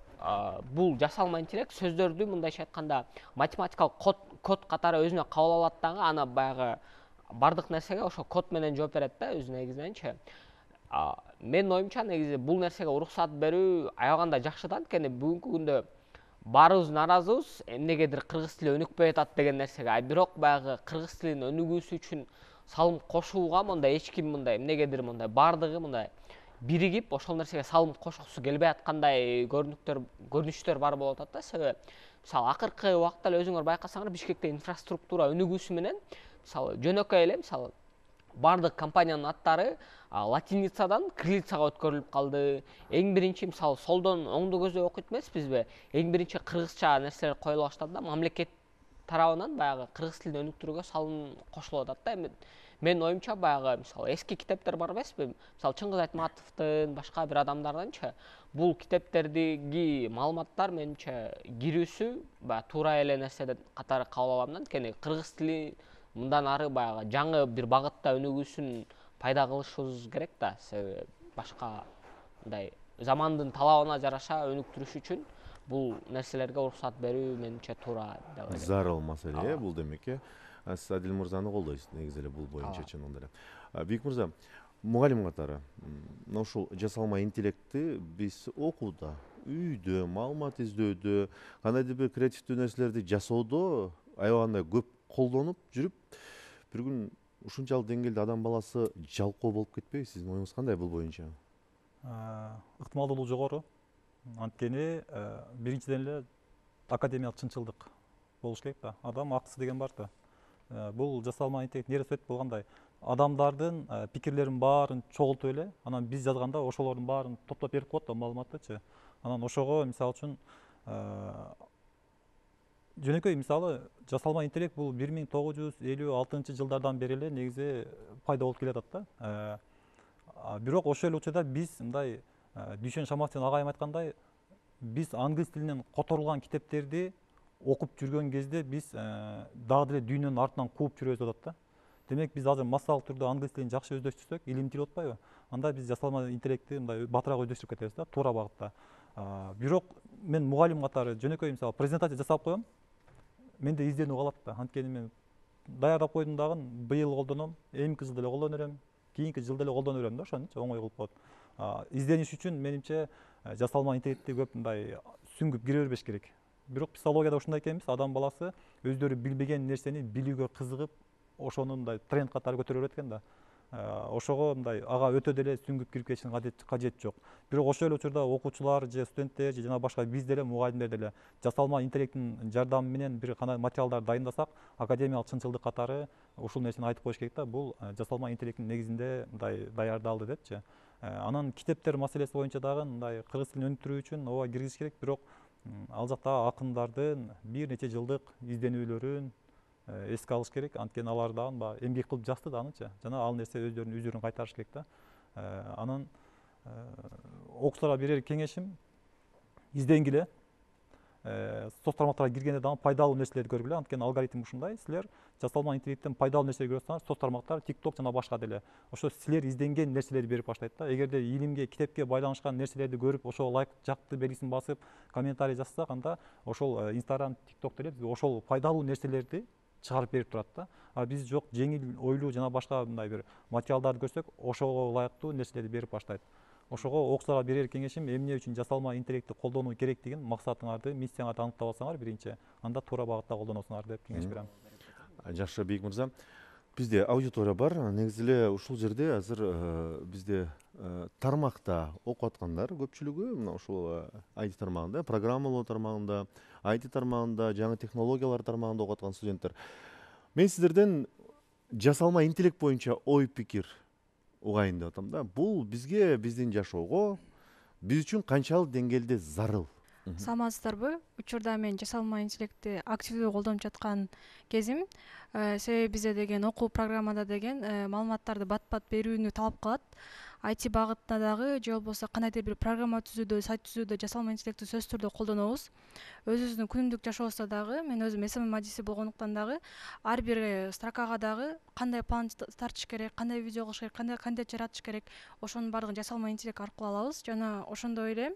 бул жасалма интеллект сөздөрдү мындайча айтканда математикалык код катары өзүнө кабыл алат дагы, аны баягы бардык нерсеге ошо код менен жооп берет да өзү негизиненчи. Менин оюмча негизи бул нерсеге уруксат берүү аябагында жакшы да, анткени бүгүнкү күндө баарыбыз нааразыбыз эмнегедир кыргыз тили өнүкпөй атат деген нерсеге. Бирок баягы кыргыз тилинин өнүгүүсү үчүн салым кошууга мындай эч ким мындай эмнегедир мындай баардыгы мындай биригип ошол нерсеге салым кошкусу келбей аткандай көрүнүштөр бар болуп атат да. Себеби мисалы акыркы убакта эле өзүңөр байкасаңар, Бишкекте инфраструктура өнүгүүсү менен мисалы жөнөкөй эле мисалы бардык компаниянын аттары латиницадан кириллицага өткөрүлүп калды. Эң биринчи мисалы солдон оңду көздөй окуйт эмеспизби? Эң биринчи кыргызча нерселер коюла баштады да, мамлекет тарабынан баягы кыргыз тилин өнүктүрүүгө салым кошулуп атат да. Менин оюмча баягы мисалы эски китептер бар эмеспи? Мисалы Чыңгыз Айтматовдун, башка бир адамдардынчы бул китептердеги маалыматтар менимче кирүүсү баягы туура эле нерсе катары кабыл алам да, анткени кыргыз тили мындан ары баягы жаңы бир багытта өнүгүүсүн пайда кылышыбыз керек да. Себеби башка мындай замандын талабына жараша өнүктүрүш үчүн бул нерселерге уруксат берүү менимче туура деп ойлойм. Зарыл маселе бул демек. Сиз Адил мырзаны колдойсуз негизи эле бул боюнча чындыгында эле. Бийик мырза, мугалим катары мына ушул жасалма интеллектти биз окууда, үйдө, маалымат издөөдө, кандайдыр бир креативдүү нерселерди жасоодо аябагында көп колдонуп жүрүп, бир күн ушунчалык деңгээлде адам баласы жалкоо болуп кетпейби? Сиздин оюңуз кандай бул боюнча? Ыктымалдуулугу жогору. Анткени биринчиден эле академиялык чынчылдык болуш керек да. Адам акысы деген бар да. Бул жасалма интеллект нейросет болгондой адамдардын пикирлерин баарын чогултуп эле, анан биз жазганда ошолордун баарын топтоп берип коет да маалыматтычы. Анан ошого мисалы үчүн жөнөкөй мисалы жасалма интеллект бул 1956 жылдардан бери эле негизи пайда болуп келатат да. Бирок ошол эле учурда биз мындай Дүйшөн Шаматовдун агайым айткандай, биз англис тилинен которулган китептерди окуп жүргөн кезде биз дагы деле дүйнөнүн артынан кууп жүрөбүз деп атат да. Демек биз азыр массалык түрдө англис тилин жакшы өздөштүрсөк, илим тил атпайбы? Анда биз жасалма интеллектти мындай батыраак өздөштүрүп кетебиз да, туура багытта. Бирок мен мугалим катары жөнөкөй мисалы презентация жасап коем, менде изденүү калат да. Анткени мен даярдап койдум дагы, быйыл колдоном, эмки жылда эле колдоно берем, кийинки жылда эле колдоно берем да, ошонучу оңой кылып коет. Издениш үчүн менимче жасалма интеллектти көп мындай сүңгүп кире бербеш керек. бирок психологияда ушундай экенбиз, адам баласы өздөрү билбеген нерсени билүүгө кызыгып, ошону мындай тренд катары көтөрө берет экен да. Ошого мындай ага өтө деле сүңгүп кирип кетиштин кажети жок. Бирок ошол эле учурда окуучулар же студенттер же жана башка биз деле мугалимдер деле жасалма интеллекттин жардамы менен бир кандай материалдар дайындасак, академиялык чынчылдык катары ушул нерсени айтып коюш керек да. Бул жасалма интеллекттин негизинде мындай даярдалды депчи. Анан китептер маселеси боюнча дагы мындай кыргыз тилин өнүктүрүү үчүн ооба киргизиш керек, бирок ал жакта акындардын бир нече жылдык изденүүлөрүн эске алыш керек. Анткени алар дагы баягы эмгек кылып жазды да анычы. Жана ал нерсе өздөрүнүн үзүрүн кайтарыш керек да. Анан окуучуларга берер кеңешим, изденгиле. Соц тармактарга киргенде дагы пайдалуу нерселерди көргүлө. Анткени алгоритм ушундай. Силер жасалма интеллекттен пайдалуу нерселерди көрүп атсаңар, соц тармактар, TikTok жана башка деле ошо силер изденген нерселерди берип баштайт да. Эгерде илимге, китепке байланышкан нерселерди көрүп, ошого лайк, жакты белгисин басып, комментарий жазсак, анда ошол Instagram, TikTok деле бизге ошол пайдалуу нерселерди чыгарып берип турат да. А биз жок, жеңил ойлуу жана башка мындай бир материалдарды көрсөк, ошого ылайыктуу нерселерди берип баштайт. Ошого окуучуларга берер кеңешим, эмне үчүн жасалма интеллектти колдонуу керектигин, максатыңарды, миссияңарды аныктап алсаңар биринчи, анда туура багытта колдоносуңар деп кеңеш берем. Жакшы, Бейик мырза. Бизде аудитория бар. Негизи эле ушул жерде азыр бизде тармакта окуп аткандар көпчүлүгү мына ушул IT тармагында, программалоо тармагында, IT тармагында, жаңы технологиялар тармагында окуп аткан студенттер. Мен сиздерден жасалма интеллект боюнча ой пикир угайын деп атам да. Бул бизге, биздин жашоого, биз үчүн канчалык деңгээлде зарыл? Саламатсыздарбы? Учурда мен жасалма интеллектти активдүү колдонуп жаткан кезим. Себеби бизде деген окуу программада деген маалыматтарды бат-бат берүүнү талап кылат. IT багытында дагы же болбосо кандайдыр бир программа түзүүдө, сайт түзүүдө жасалма интеллектти сөзсүз түрдө колдонобуз. Өзүбүздүн күнүмдүк жашообузда дагы, мен өзүм СММ адиси болгондуктан дагы ар бир строкага дагы кандай план тартыш керек, кандай видео кылыш керек, кандай контент жаратыш керек, ошонун баардыгын жасалма интеллект аркылуу алабыз. Жана ошондой эле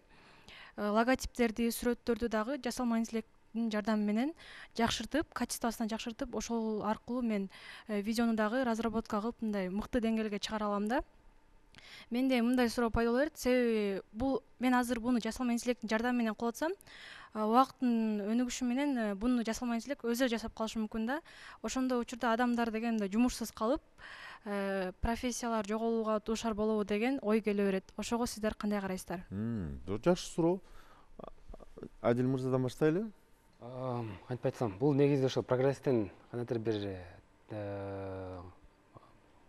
логотиптерди, сүрөттөрдү дагы жасалма интеллекттин жардамы менен жакшыртып, качествосун жакшыртып, ошол аркылуу мен видеону дагы разработка кылып мындай мыкты деңгээлге чыгара алам да. Менде мындай суроо пайда боло берет, себеби бул мен азыр буну жасалма интеллекттин жардамы менен кылып атсам, убакыттын өнүгүшү менен буну жасалма интеллект өзү жасап калышы мүмкүн да. Ошондой учурда адамдар деген мындай жумушсуз калып, профессиялар жоголууга дуушар болобу деген ой келе берет. Ошого сиздер кандай карайсыздар? Жакшы суроо. Адил мырзадан баштайлы. Кантип айтсам, бул негизи ошо прогресстин кандайдыр бир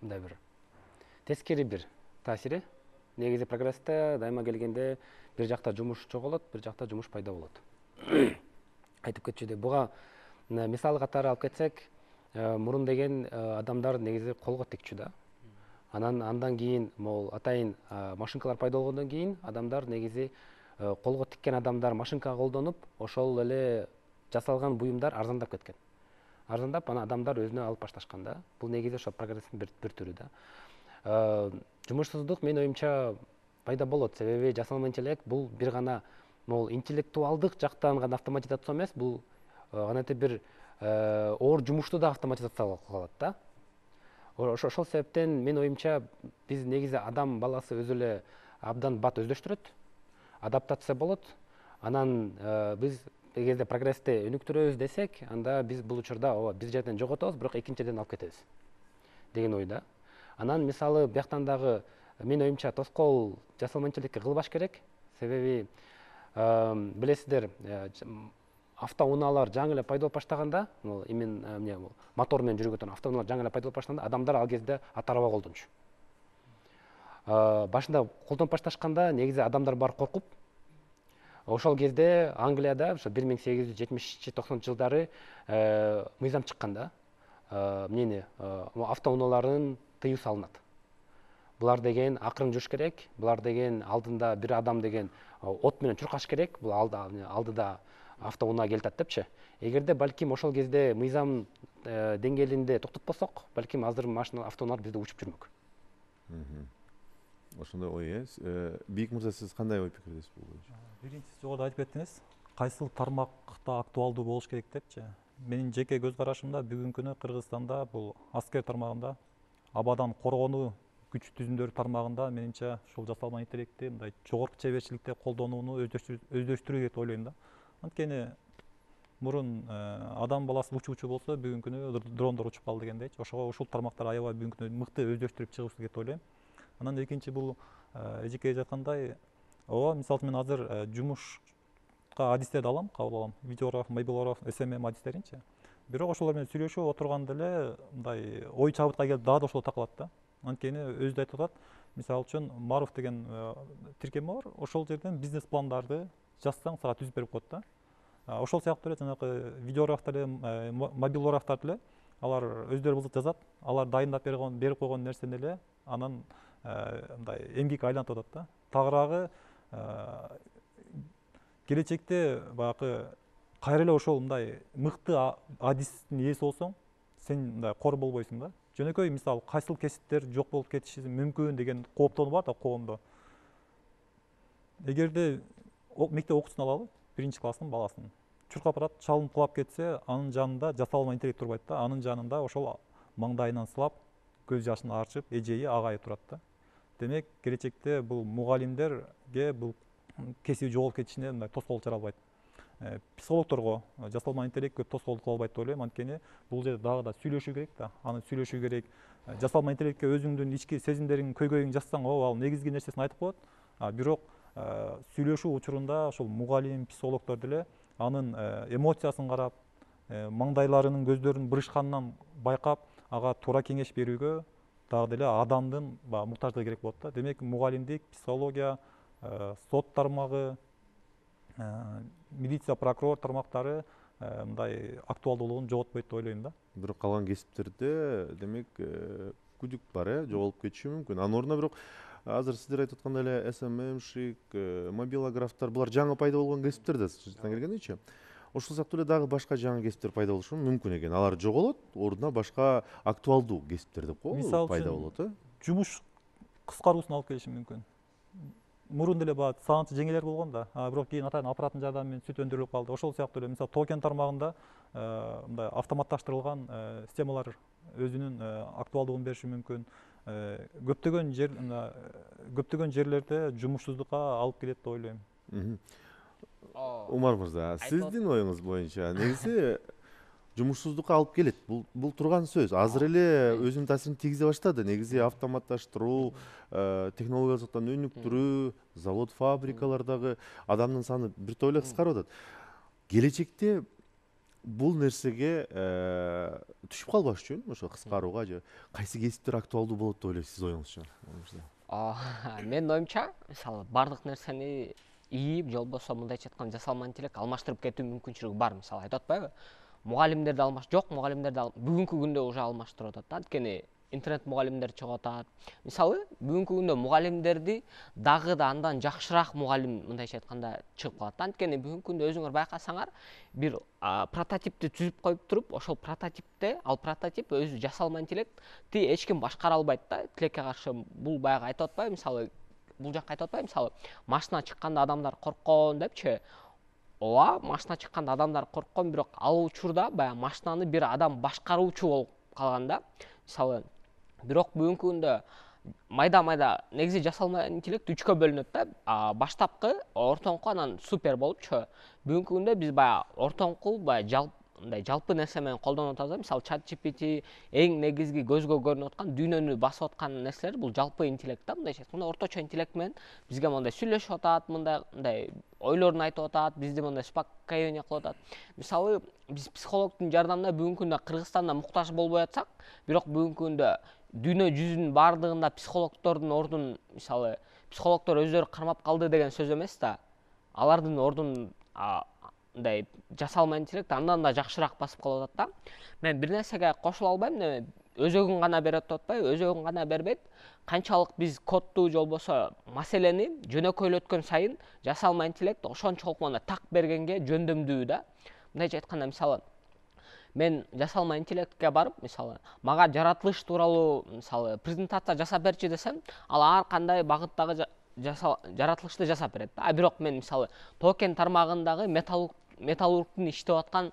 мындай бир тескери бир таасири. Негизи прогрессте дайыма келгенде бир жакта жумуш жоголот, бир жакта жумуш пайда болот. Айтып кетчүдөй, буга мисал катары алып кетсек, мурун деген адамдар негизи колго тикчү да. Андан кийин могул атайын машинкалар пайда болгондон кийин адамдар негизи колго тиккен адамдар машинка колдонуп, ошол эле жасалган буюмдар арзандап кеткен. Арзандап, анан адамдар өзүнө алып башташкан да. Бул негизи ошо прогресстин бир түрү да. Жумушсуздук менин оюмча пайда болот, себеби жасалма интеллект бул бир гана могул интеллектуалдык жактан гана автоматизация эмес, бул кандайдыр бир оор жумушту да автоматизация кылат да. Ошол себептен менин оюмча биз негизи адам баласы өзү эле абдан бат өздөштүрөт, адаптация болот. Анан биз эгерде прогрессти өнүктүрөбүз десек, анда биз бул учурда ооба бир жерден жоготобуз, бирок экинчи жерден алып кетебиз деген ойда. Анан мисалы бияктан дагы менин оюмча тоскоол жасалма интеллектке кылбаш керек. Себеби билесиздер, автоунаалар жаңы эле пайда болуп баштаганда, именно мотор менен жүрүп өтөн автоунаалар жаңы эле пайда болуп баштаганда, адамдар ал кезде ат араба колдончу. Башында колдонуп башташканда негизи адамдар баары коркуп, ошол кезде Англияда ошо 1870-90 жылдары мыйзам чыккан да. Эмнени автоунааларын тыюу салынат. Булар деген акырын жүрүш керек, булар деген алдында бир адам деген от менен чуркаш керек, бул алдыда автоунаа келатат депчи. Эгерде балким ошол кезде мыйзам деңгээлинде токтотпосок, балким азыр машина автоунаалар бизде учуп жүрмөк. Ошондой ой, Бийик мырза, сиз кандай ой пикирдесиз бул боюнча? Биринчи жогоруда айтып кеттиңиз, кайсыл тармакта актуалдуу болуш керек депчи. Менин жеке көз карашымда бүгүнкү күнү Кыргызстанда бул аскер тармагында, абадан коргонуу күч түзүмдөрү тармагында менимче ушул жасалма интеллектти мындай жогорку чеберчиликте колдонууну өздөштүрүү керек деп ойлойм да. Анткени мурун адам баласы учуучу болсо бүгүнкү күнү дрондор учуп калды дегендейчи. Ошого ушул тармактар аябай бүгүнкү күнү мыкты өздөштүрүп чыгышыбыз керек деп ойлойм. Анан экинчи бул эжеке айткандай, ооба, мисалы үчүн мен азыр жумушка адистерди алам, кабыл алам. Видеограф, мобилограф, SMM адистеринчи. Бирок ошолор менен сүйлөшүп отурганда эле мындай ой чабытка келип дагы да ошол такылат да. Анткени өзү да айтып атат. Мисалы үчүн Маруф деген тиркеме бар. Ошол жерден бизнес пландарды жазсаң сага түзүп берип коет да. Ошол сыяктуу эле жанагы видеографтар эле, мобилографтар эле алар өздөрү болсо жазат. Алар дайындап берип койгон нерсени эле анан мындай эмгекке айлантып атат да. Тагыраагы келечекте баягы кайра эле ошол мындай мыкты адистин ээси болсоң, сен мындай кор болбойсуң да. Жөнөкөй мисалы кайсыл кесиптер жок болуп кетиши мүмкүн деген кооптонуу бар да коомдо. Эгерде мектеп окуучусун алалы, 1-класстын баласын чуркап барат, чалынып кулап кетсе, анын жанында жасалма интеллект турбайт да. Анын жанында ошол маңдайынан сылап, көз жашын арчып, эжеи, агайы турат да. Демек, келечекте бул мугалимдерге бул кесиби жоголуп кетишине мындай тоскоол чара албайт. Психологторго жасалма интеллект көп тоскоолдук кыла албайт деп ойлойм. Анткени бул жерде дагы да сүйлөшүү керек да. Аны сүйлөшүү керек. Жасалма интеллектке өзүңдүн ички сезимдериң, көйгөйүң жазсаң, ал негизги нерсесин айтып коет. Бирок сүйлөшүү учурунда ошол мугалим, психологдор деле анын эмоциясын карап, маңдайларынын, көздөрүнүн бырышканынан байкап, ага туура кеңеш берүүгө дагы деле адамдын муктаждыгы керек болот да. Демек, мугалимдик, психология, сот тармагы, милиция, прокурор тармактары мындай актуалдуулугун жоготпойт деп ойлойм да. Бирок калган кесиптерде демек күдүк бар, жоголуп кетиши мүмкүн. Анын ордуна бирок азыр сиздер айтып аткандай эле SMM-шик, мобилографтар булар жаңы пайда болгон кесиптер да, чындыгына келгендечи. Ошол сыяктуу эле дагы башка жаңы кесиптер пайда болушу мүмкүн экен. Алар жоголот, ордуна башка актуалдуу кесиптер деп коебу пайда болот, жумуш кыскаруусун алып келиши мүмкүн. Мурун деле баягы саанчы жеңелер болгон да, бирок кийин атайын аппараттын жардамы менен сүт өндүрүлүп калды. Ошол сыяктуу эле мисалы токен тармагында мындай автоматташтырылган системалар өзүнүн актуалдуулугун бериши мүмкүн. Көптөгөн жерлерде жумушсуздукка алып келет деп ойлойм. Умар мырза, сиздин оюңуз боюнча негизи жумушсуздукка алып келет. Бул турган сөз. Азыр эле өзүнүн таасирин тийгизе баштады. Негизи автоматташтыруу, технологиялык жактан өнүктүрүү, завод, фабрикалардагы адамдын саны бир топ эле кыскарып атат. Келечекте бул нерсеге түшүп калбаш үчүн, ошо кыскарууга же кайсы кесиптер актуалдуу болот деп ойлойсуз, сиз оюңузча? Менин оюмча, мисалы бардык нерсени ийип, же болбосо мындайча айтканда жасалма интеллект алмаштырып кетүү мүмкүнчүлүгү бар. Мисалы айтып атпайбы? Мугалимдерди мугалимдерди бүгүнкү күндө уже алмаштырып атат да. Анткени интернет мугалимдер чыгып атат. Мисалы, бүгүнкү күндө мугалимдерди дагы да андан жакшыраак мугалим мындайча айтканда чыгып калат. Анткени бүгүнкү күндө өзүңөр байкасаңар, бир прототипти түзүп коюп туруп, ошол прототипте, ал прототип өзү жасалма интеллекти эч ким башкара албайт да. Тилекке каршы бул баягы айтып атпайбы, мисалы, бул жакка айтып атпайбы, мисалы, машина чыкканда адамдар корккон депчи. Ооба, машина чыкканда адамдар корккон, бирок ал учурда баягы машинаны бир адам башкаруучу болуп калган да. Мисалы, бирок бүгүнкү күндө майда негизи жасалма интеллект 3кө бөлүнөт да. Баштапкы, ортоңку, анан супер болупчу. Бүгүнкү күндө биз баягы ортоңку, баягы жалпы нерсе менен колдонуп атабыз. Мисалы, ChatGPT эң негизги көзгө көрүнүп аткан, дүйнөнү басып аткан нерселер бул жалпы интеллект да. Мындайча айтканда, орточо интеллект менен бизге мындай сүйлөшүп атат, мындай ойлорун айтып атат, бизди мындай успокоение кылып атат. Мисалы, биз психологдун жардамына бүгүнкү күндө Кыргызстанда муктаж болбой атсак, бирок бүгүнкү күндө дүйнө жүзүнүн баардыгында психологдордун ордун, мисалы, психологдор өздөрү кармап калды деген сөз эмес да. Алардын ордун мындай жасалма интеллект андан да жакшыраак басып калып атат да. Мен бир нерсеге кошула албайм, өзөгүн гана берет деп атпайбы, өзөгүн гана бербейт. Канчалык биз кодду же болбосо маселени жөнөкөйлөткөн сайын жасалма интеллект ошончолук мына так бергенге жөндөмдүү да. Мындайча айтканда, мисалы, мен жасалма интеллектке барып, мисалы, мага жаратылыш тууралуу, мисалы, презентация жасап берчи десем, ал ар кандай багыттагы жаратылышты жасап берет. Бирок мен, мисалы, токен тармагындагы металлургтун иштеп аткан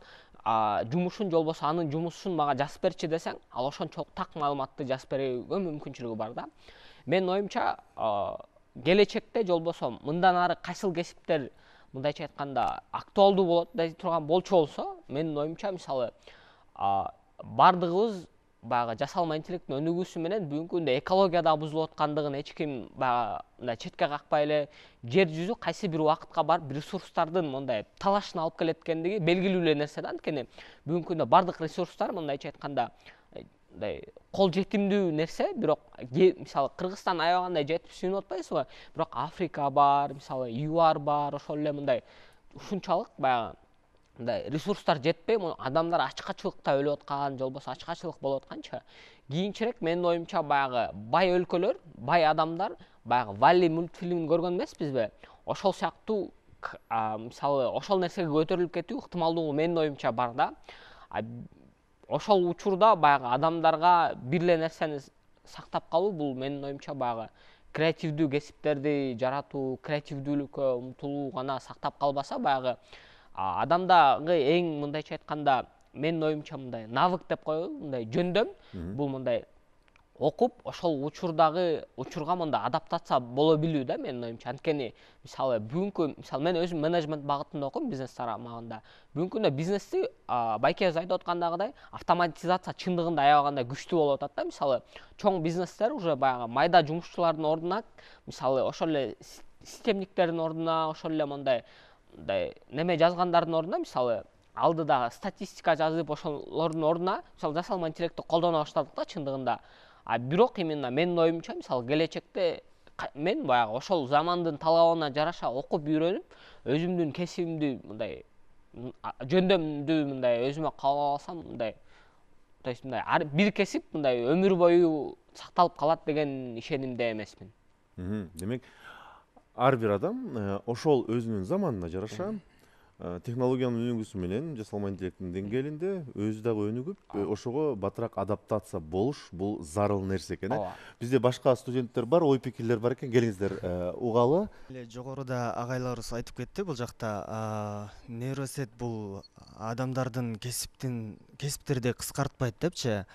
жумушун же болбосо анын жумушун мага жазып берчи десең, ал ошончолук так маалыматты жазып берүүгө мүмкүнчүлүгү бар да. Менин оюмча, келечекте же болбосо мындан ары кайсыл кесиптер мындайча айтканда актуалдуу болот дей турган болчу болсо, менин оюмча мисалы бардыгыбыз баягы жасалма интеллекттин өнүгүүсү менен бүгүнкү күндө экология да бузулуп аткандыгын эч ким баягы мындай четке какпай эле жер жүзү кайсы бир убакытка барып ресурстардын мындай талашын алып келет экендиги белгилүү эле нерсе да. Анткени бүгүнкү күндө бардык ресурстар мындайча айтканда мындай кол жетимдүү нерсе, бирок мисалы Кыргызстан аябагандай жетип сүйүнүп атпайсызбы? Бирок Африка бар, мисалы ЮАР бар, ошол эле мындай ушунчалык баягы мындай ресурстар жетпей, адамдар ачкачылыкта өлүп аткан, же болбосо ачкачылык болуп атканча, кийинчерээк менин оюмча баягы бай өлкөлөр, бай адамдар, баягы Валли мультфильмин көргөн эмеспизби? Ошол сыяктуу мисалы ошол нерсеге көтөрүлүп кетүү ыктымалдуулугу менин оюмча бар да. Ошол учурда баягы адамдарга бир эле нерсени сактап калуу, бул менин оюмча баягы креативдүү кесиптерди жаратуу, креативдүүлүккө умтулуу гана сактап калбаса, баягы адамдагы эң мындайча айтканда менин оюмча мындай навык деп коелу, мындай жөндөм, бул мындай окуп ошол учурга мындай адаптация боло билүү да менин оюмча. Анткени мисалы мисалы мен өзүм менеджмент багытында окуйм, бизнес тарамагында. Бүгүнкү күндө бизнести байкебиз айтып аткандагыдай автоматизация чындыгында аябагандай күчтүү болуп атат да. Мисалы чоң бизнестер уже баягы майда жумушчулардын ордуна, мисалы ошол эле системниктердин ордуна, ошол эле мындай неме жазгандардын ордуна, мисалы алдыда статистика жазып ошолордун ордуна мисалы жасалма интеллектти колдоно баштадык да чындыгында. Бирок именно менин оюмча мисалы келечекте мен баягы ошол замандын талабына жараша окуп үйрөнүп, өзүмдүн кесибимди мындай жөндөмдү мындай өзүмө кабыл алсам, мындай то есть мындай бир кесип мындай өмүр бою сакталып калат деген ишенимде эмесмин. Демек, ар бир адам ошол өзүнүн заманына жараша технологиянын өнүгүүсү менен жасалма интеллекттин деңгээлинде өзү дагы өнүгүп, ошого батыраак адаптация болуш бул зарыл нерсе экен. Бизде башка студенттер бар, ой пикирлер бар экен, келиңиздер угалы. Жогоруда агайларыбыз айтып кетти, бул жакта нейросет бул адамдардын кесиптерди кыскартпайт депчи.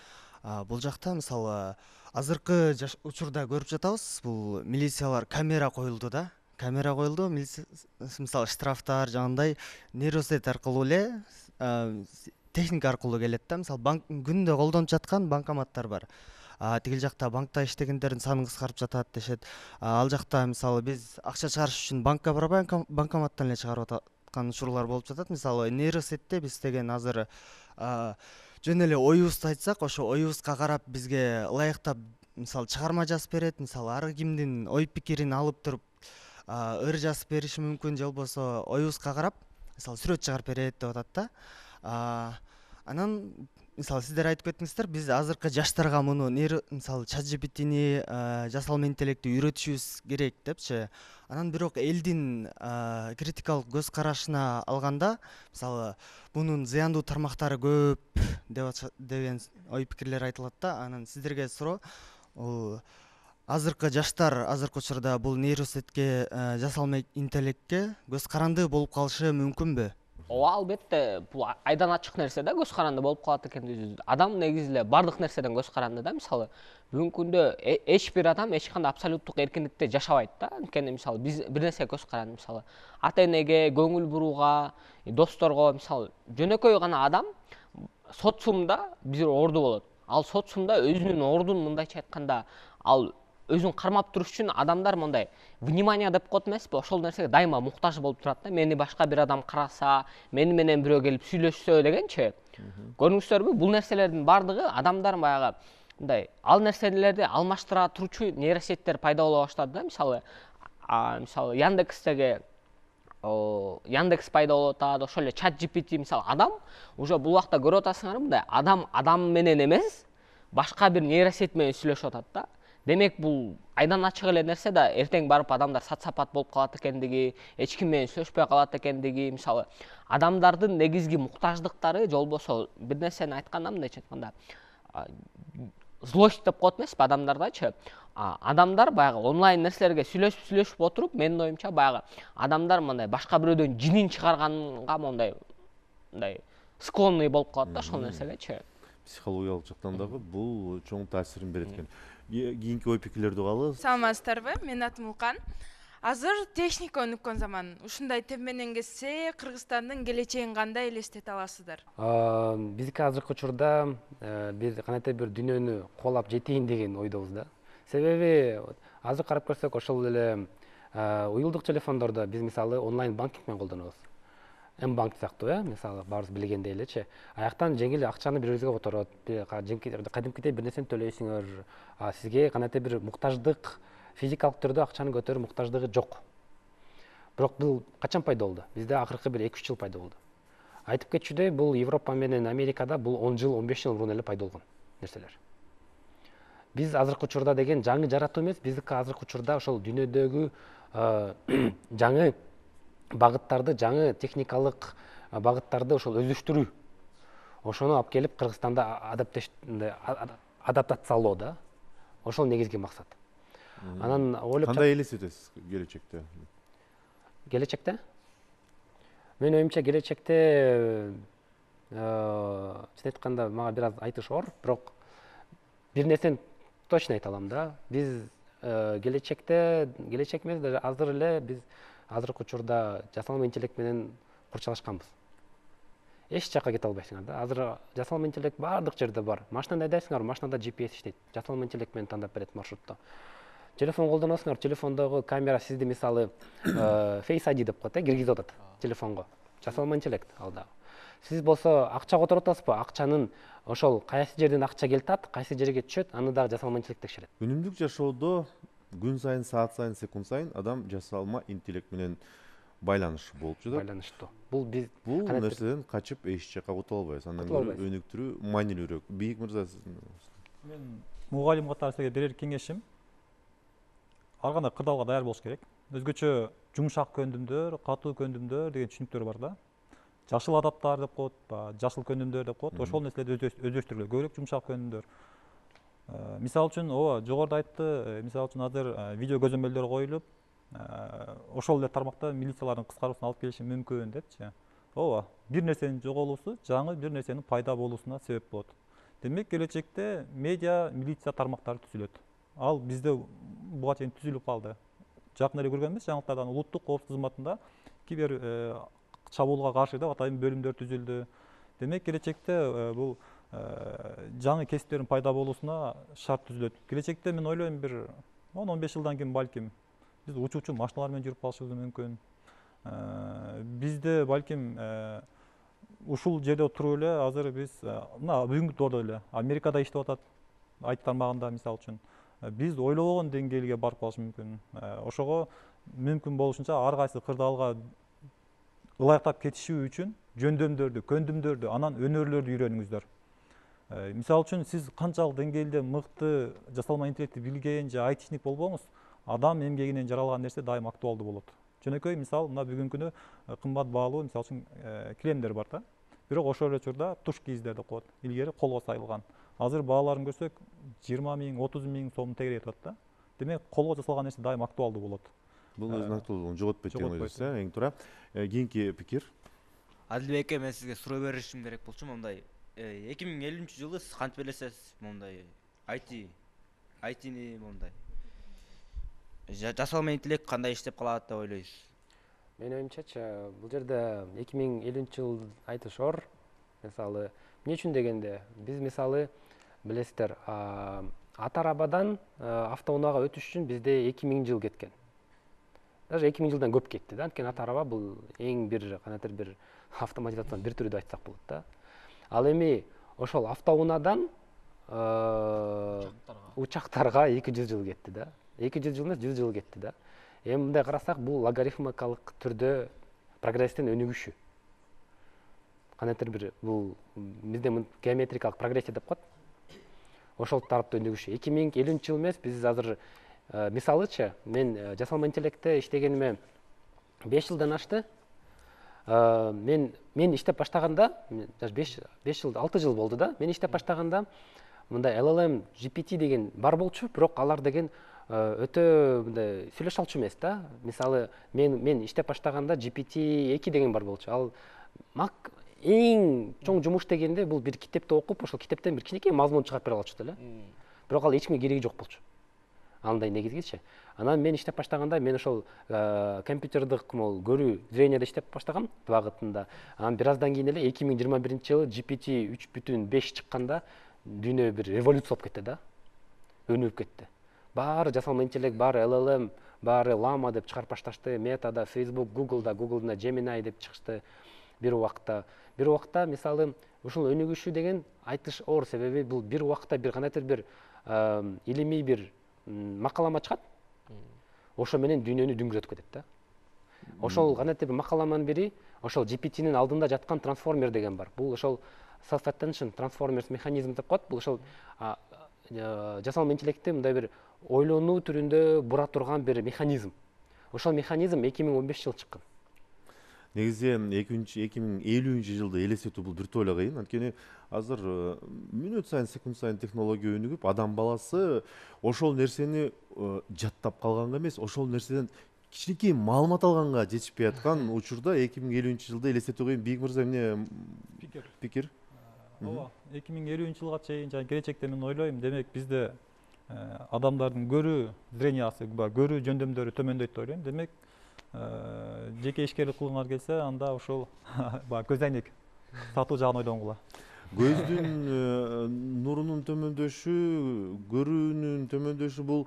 Бул жакта мисалы азыркы учурда көрүп жатабыз, бул милициялар камера коюлду да. Камера коюлду, мисалы штрафтар жагандай нейросет аркылуу эле техника аркылуу келет да. Мисалы күндө колдонуп жаткан банкоматтар бар. Тигил жакта банкта иштегендердин санын кыскартып жатат дешет. Ал жакта мисалы биз акча чыгарыш үчүн банкка барбай банкоматтан эле чыгарып аткан учурлар болуп жатат. Мисалы нейросетте биз деген азыр жөн эле оюбузду айтсак, ошо оюбузга карап бизге ылайыктап мисалы чыгарма жазып берет. Мисалы ар кимдин ой пикирин алып туруп ыр жазып бериши мүмкүн, же болбосо оюбузга карап мисалы сүрөт чыгарып берет деп атат да. Анан мисалы сиздер айтып кеттиңиздер, биз азыркы жаштарга муну мисалы ChatGPT'ни жасалма интеллектти үйрөтүшүбүз керек депчи. Анан бирок элдин критикалык көз карашына алганда, мисалы мунун зыяндуу тармактары көп деген ой пикирлер айтылат да. Анан сиздерге суроо, азыркы жаштар азыркы учурда бул нейросетке, жасалма интеллектке көз каранды болуп калышы мүмкүнбү? Ооба, албетте, бул айдан ачык нерсе да, көз каранды болуп калат экен. Адам негизи эле бардык нерседен көз каранды да. Мисалы бүгүнкү күндө эч бир адам эч кандай абсолюттук эркиндикте жашабайт да. Анткени мисалы биз бир нерсеге көз каранды, мисалы ата-энеге, көңүл бурууга, досторго, мисалы жөнөкөй гана адам социумда бир орду болот. Ал социумда өзүнүн ордун мындайча айтканда, ал өзүн кармап туруш үчүн адамдар мындай внимание деп коет эмеспи, ошол нерсеге дайыма муктаж болуп турат да. Мени башка бир адам караса, мени менен бирөө келип сүйлөшсө дегенчи. Көрдүңүздөрбү, бул нерселердин бардыгы адамдар баягы мындай ал нерселерди алмаштыра турчу нейросеттер пайда боло баштады да. Мисалы Яндекстеги Яндекс пайда болуп атат, ошол эле ChatGPT, мисалы адам уже бул убакта көрүп атасыңарбы, мындай адам менен эмес, башка бир нейросет менен сүйлөшүп атат да. Демек бул айдан ачык эле нерсе да, эртең барып адамдар социопат болуп калат экендиги, эч ким менен сүйлөшпөй калат экендиги, мисалы адамдардын негизги муктаждыктары, же болбосо бир нерсени айтканда мындайча айтканда злость деп коет эмеспи адамдардачы. Адамдар баягы онлайн нерселерге сүйлөшүп отуруп, менин оюмча баягы адамдар мындай башка бирөөдөн жинин чыгарганга мындай склонный болуп калат да ошол нерсегечи. Психологиялык жактан дагы бул чоң таасирин берет экен. Кийинки ой пикирлерди угалы. Саламатсыздарбы? Менин атым Улкан. Азыр техника өнүккөн заман. Ушундай тем менен кетсе, Кыргызстандын келечегин кандай элестете аласыздар? Биздики азыркы учурда бир кандайдыр бир дүйнөнү кубалап жетейин деген ойдобуз да. Себеби азыр карап көрсөк, ошол эле уюлдук телефондордо биз мисалы онлайн банкинг менен колдонобуз. М-банк сыяктуу, мисалы баарыбыз билгендей элечи. Аяктан жеңил акчаны бирибизге которот. Кадимкидей бир нерсени төлөйсүңөр. Сизге кандайдыр бир муктаждык, физикалык түрдө акчаны көтөрүү муктаждыгы жок. Бирок бул качан пайда болду? Бизде акыркы бир 2-3 жыл пайда болду. Айтып кетчүдөй, бул Европа менен Америкада бул 10 жыл, 15 жыл мурун эле пайда болгон нерселер. Биз азыркы учурда деген жаңы жаратуу эмес, биздики азыркы учурда ошол дүйнөдөгү жаңы багыттарды, жаңы техникалык багыттарды ошол өздөштүрүү. Ошону алып келип Кыргызстанда адаптациялоо да. Ошол негизги максат. Анан ойлоп Кандай элестетесиз келечекте? Келечекте? Менин оюмча келечекте чын айтканда мага бир аз айтыш оор, бирок бир нерсени точно айта алам да. Биз келечек эмес, даже азыр эле биз азыркы учурда жасалма интеллект менен курчалашканбыз. Эч жакка кете албайсыңар да. Азыр жасалма интеллект баардык жерде бар. Машинада айдайсыңар, машинада GPS иштейт. Жасалма интеллект менен тандап берет маршрутты. Телефон колдоносуңар, телефондогу камера сизди мисалы Face ID деп коет, киргизип атат телефонго. Жасалма интеллект ал дагы. Сиз болсо акча которуп атасызбы? Акчанын ошол кайсы жерден акча келтат, кайсы жерге түшөт, аны дагы жасалма интеллект текшерет. Үнүмдүк жашоодо күн сайын, саат сайын, секунд сайын адам жасалма интеллект менен байланыш болуп жатат. Байланыштуу. Бул нерседен качып эч жакка кутула албайбыз. Андан көрө өнүктүрүү маанилүүрөөк. Бийик мырза, сиздин Мен мугалим катары сизге берер кеңешим ар кандай кырдаалга даяр болуш керек. Өзгөчө жумшак көндүмдөр, катуу көндүмдөр деген түшүнүктөр бар да. Жашыл адаттар деп коет, жашыл көндүмдөр деп коет. Ошол нерселерди өздөштүргүлө, көбүрөөк жумшак көндүмдөр. Мисалы үчүн, жогоруда айтты, мисалы үчүн азыр видео көзөмөлдөр коюлуп, ошол эле тармакта милициялардын кыскаруусуна алып келиши мүмкүн депчи. Бир нерсенин жоголуусу жаңы бир нерсенин пайда болуусуна себеп болот. Демек, келечекте медиа, милиция тармактары түзүлөт. Ал бизде буга чейин түзүлүп калды. Жакын эле көргөнбүз, жаңылыктардан улуттук коопсуздук кызматында кибер чабуулга каршы деп атайын бөлүмдөр түзүлдү. Демек, келечекте бул жаңы кесиптердин пайда болуусуна шарт түзүлөт. Келечекте мен ойлойм бир 10-15 жылдан кийин балким биз учуучу машиналар менен жүрүп калышыбыз мүмкүн. Бизде балким ушул жерде туруп эле азыр биз мына бүгүнкү доордо эле Америкада иштеп атат, айт тармагында мисалы үчүн. Биз ойлобогон деңгээлге барып калышы мүмкүн. Ошого мүмкүн болушунча ар кайсы кырдаалга ылайыктап кетишүү үчүн жөндөмдөрдү, көндүмдөрдү, анан өнөрлөрдү үйрөнүңүздөр. Мисалы үчүн сиз канчалык деңгээлде мыкты жасалма интеллектти билген же айтишник болбоңуз, адам эмгегинен жаралган нерсе дайым актуалдуу болот. Жөнөкөй мисал мына бүгүнкү күнү кымбат баалуу мисалы үчүн килемдер бар да. Бирок ошол эле учурда туш кийиздер деп коет. Илгери колго сайылган. Азыр бааларын көрсөк 20 000, 30 000 сомдун тегерек атат да. Демек, колго жасалган нерсе дайым актуалдуу болот. Бул өзүнүн актуалдуулугун жоготпойт деген ойдосуз, эң туура. Кийинки пикир. Адилбек, мен сизге суроо беришим керек болчу, мондай 2050-жылы сиз кантип элестетесиз мондай айтини мондай жасалма интеллект кандай иштеп калат деп ойлойсуз? Менин оюмчачы, бул жерде 2050-жыл айтыш оор. Мисалы, эмне үчүн дегенде, биз мисалы билесиздер, ат арабадан автоунаага өтүш үчүн бизде 2000 жыл кеткен. Даже 2000 жылдан көп кетти да. Анткени ат араба бул эң бир кандайдыр бир автоматизациянын бир түрү деп айтсак болот да. Ал эми ошол автоунаадан учактарга 200 жыл кетти да. 200 жыл эмес, 100 жыл кетти да. Эми мындай карасак, бул логарифмикалык түрдө прогресстин өнүгүшү. Кандайдыр бир бул бизде геометрикалык прогрессия деп коет. Ошол тарапта өнүгүшү. 2050-жыл эмес, биз азыр мисалычы, мен жасалма интеллектте иштегениме 5 жылдан ашты. Мен иштеп баштаганда, 5 жыл, 6 жыл болду да. Мен иштеп баштаганда мындай LLM, GPT деген бар болчу, бирок алар деген өтө мындай сүйлөшө алчу эмес да. Мисалы, мен иштеп баштаганда GPT-2 деген бар болчу. Ал эң чоң жумуш дегенде бул бир китепти окуп, ошол китептен бир кичинекей мазмун чыгарып бере алчу эле. Бирок ал эч кимге кереги жок болчу. Андай негизгичи. Анан мен иштеп баштаганда мен ошол компьютердик могу көрүү зрениеде иштеп баштагам багытында. Анан бир аздан кийин эле 2021-жылы GPT 3.5 чыкканда дүйнө бир революция болуп кетти да. Өнүгүп кетти. Баары жасалма интеллект, баары LLM, баары Llama деп чыгарып башташты. Метада, Facebook, Google'да Gemini деп чыгышты бир убакта. Бир убакта мисалы ушул өнүгүшү деген айтыш оор, себеби бул бир убакта бир кандайдыр бир илимий бир макалама чыгат. Ошо менен дүйнөнү дүңгүрөтүп кетет да. Ошол кандайдыр бир макаламанын бири ошол GPT-нин алдында жаткан трансформер деген бар. Бул ошол self attention transformers механизм деп коет. Бул ошол жасалма интеллектти мындай бир ойлонуу түрүндө бура турган бир механизм. Ошол механизм 2015 жылы чыккан. Негизи 2050-жылды элестетүү бул бир тойло кыйын. Анткени азыр мүнөт сайын, секунд сайын технология өнүгүп, адам баласы ошол нерсени жаттап калганга эмес, ошол нерседен кичинекей маалымат алганга жетишпей аткан учурда 2050-жылды элестетүү кыйын. Бийик мырза эмне пикир? Ооба, 2050-жылга чейин жана келечекте мен ойлойм, демек бизде адамдардын көрүү зрениясы, көрүү жөндөмдөрү төмөндөйт деп ойлойм. Демек жеке ишкерлик кылгыңар келсе, анда ошол көз айнек сатуу жагын ойлонгула. Көздүн нурунун төмөндөшү, көрүүнүн төмөндөшү бул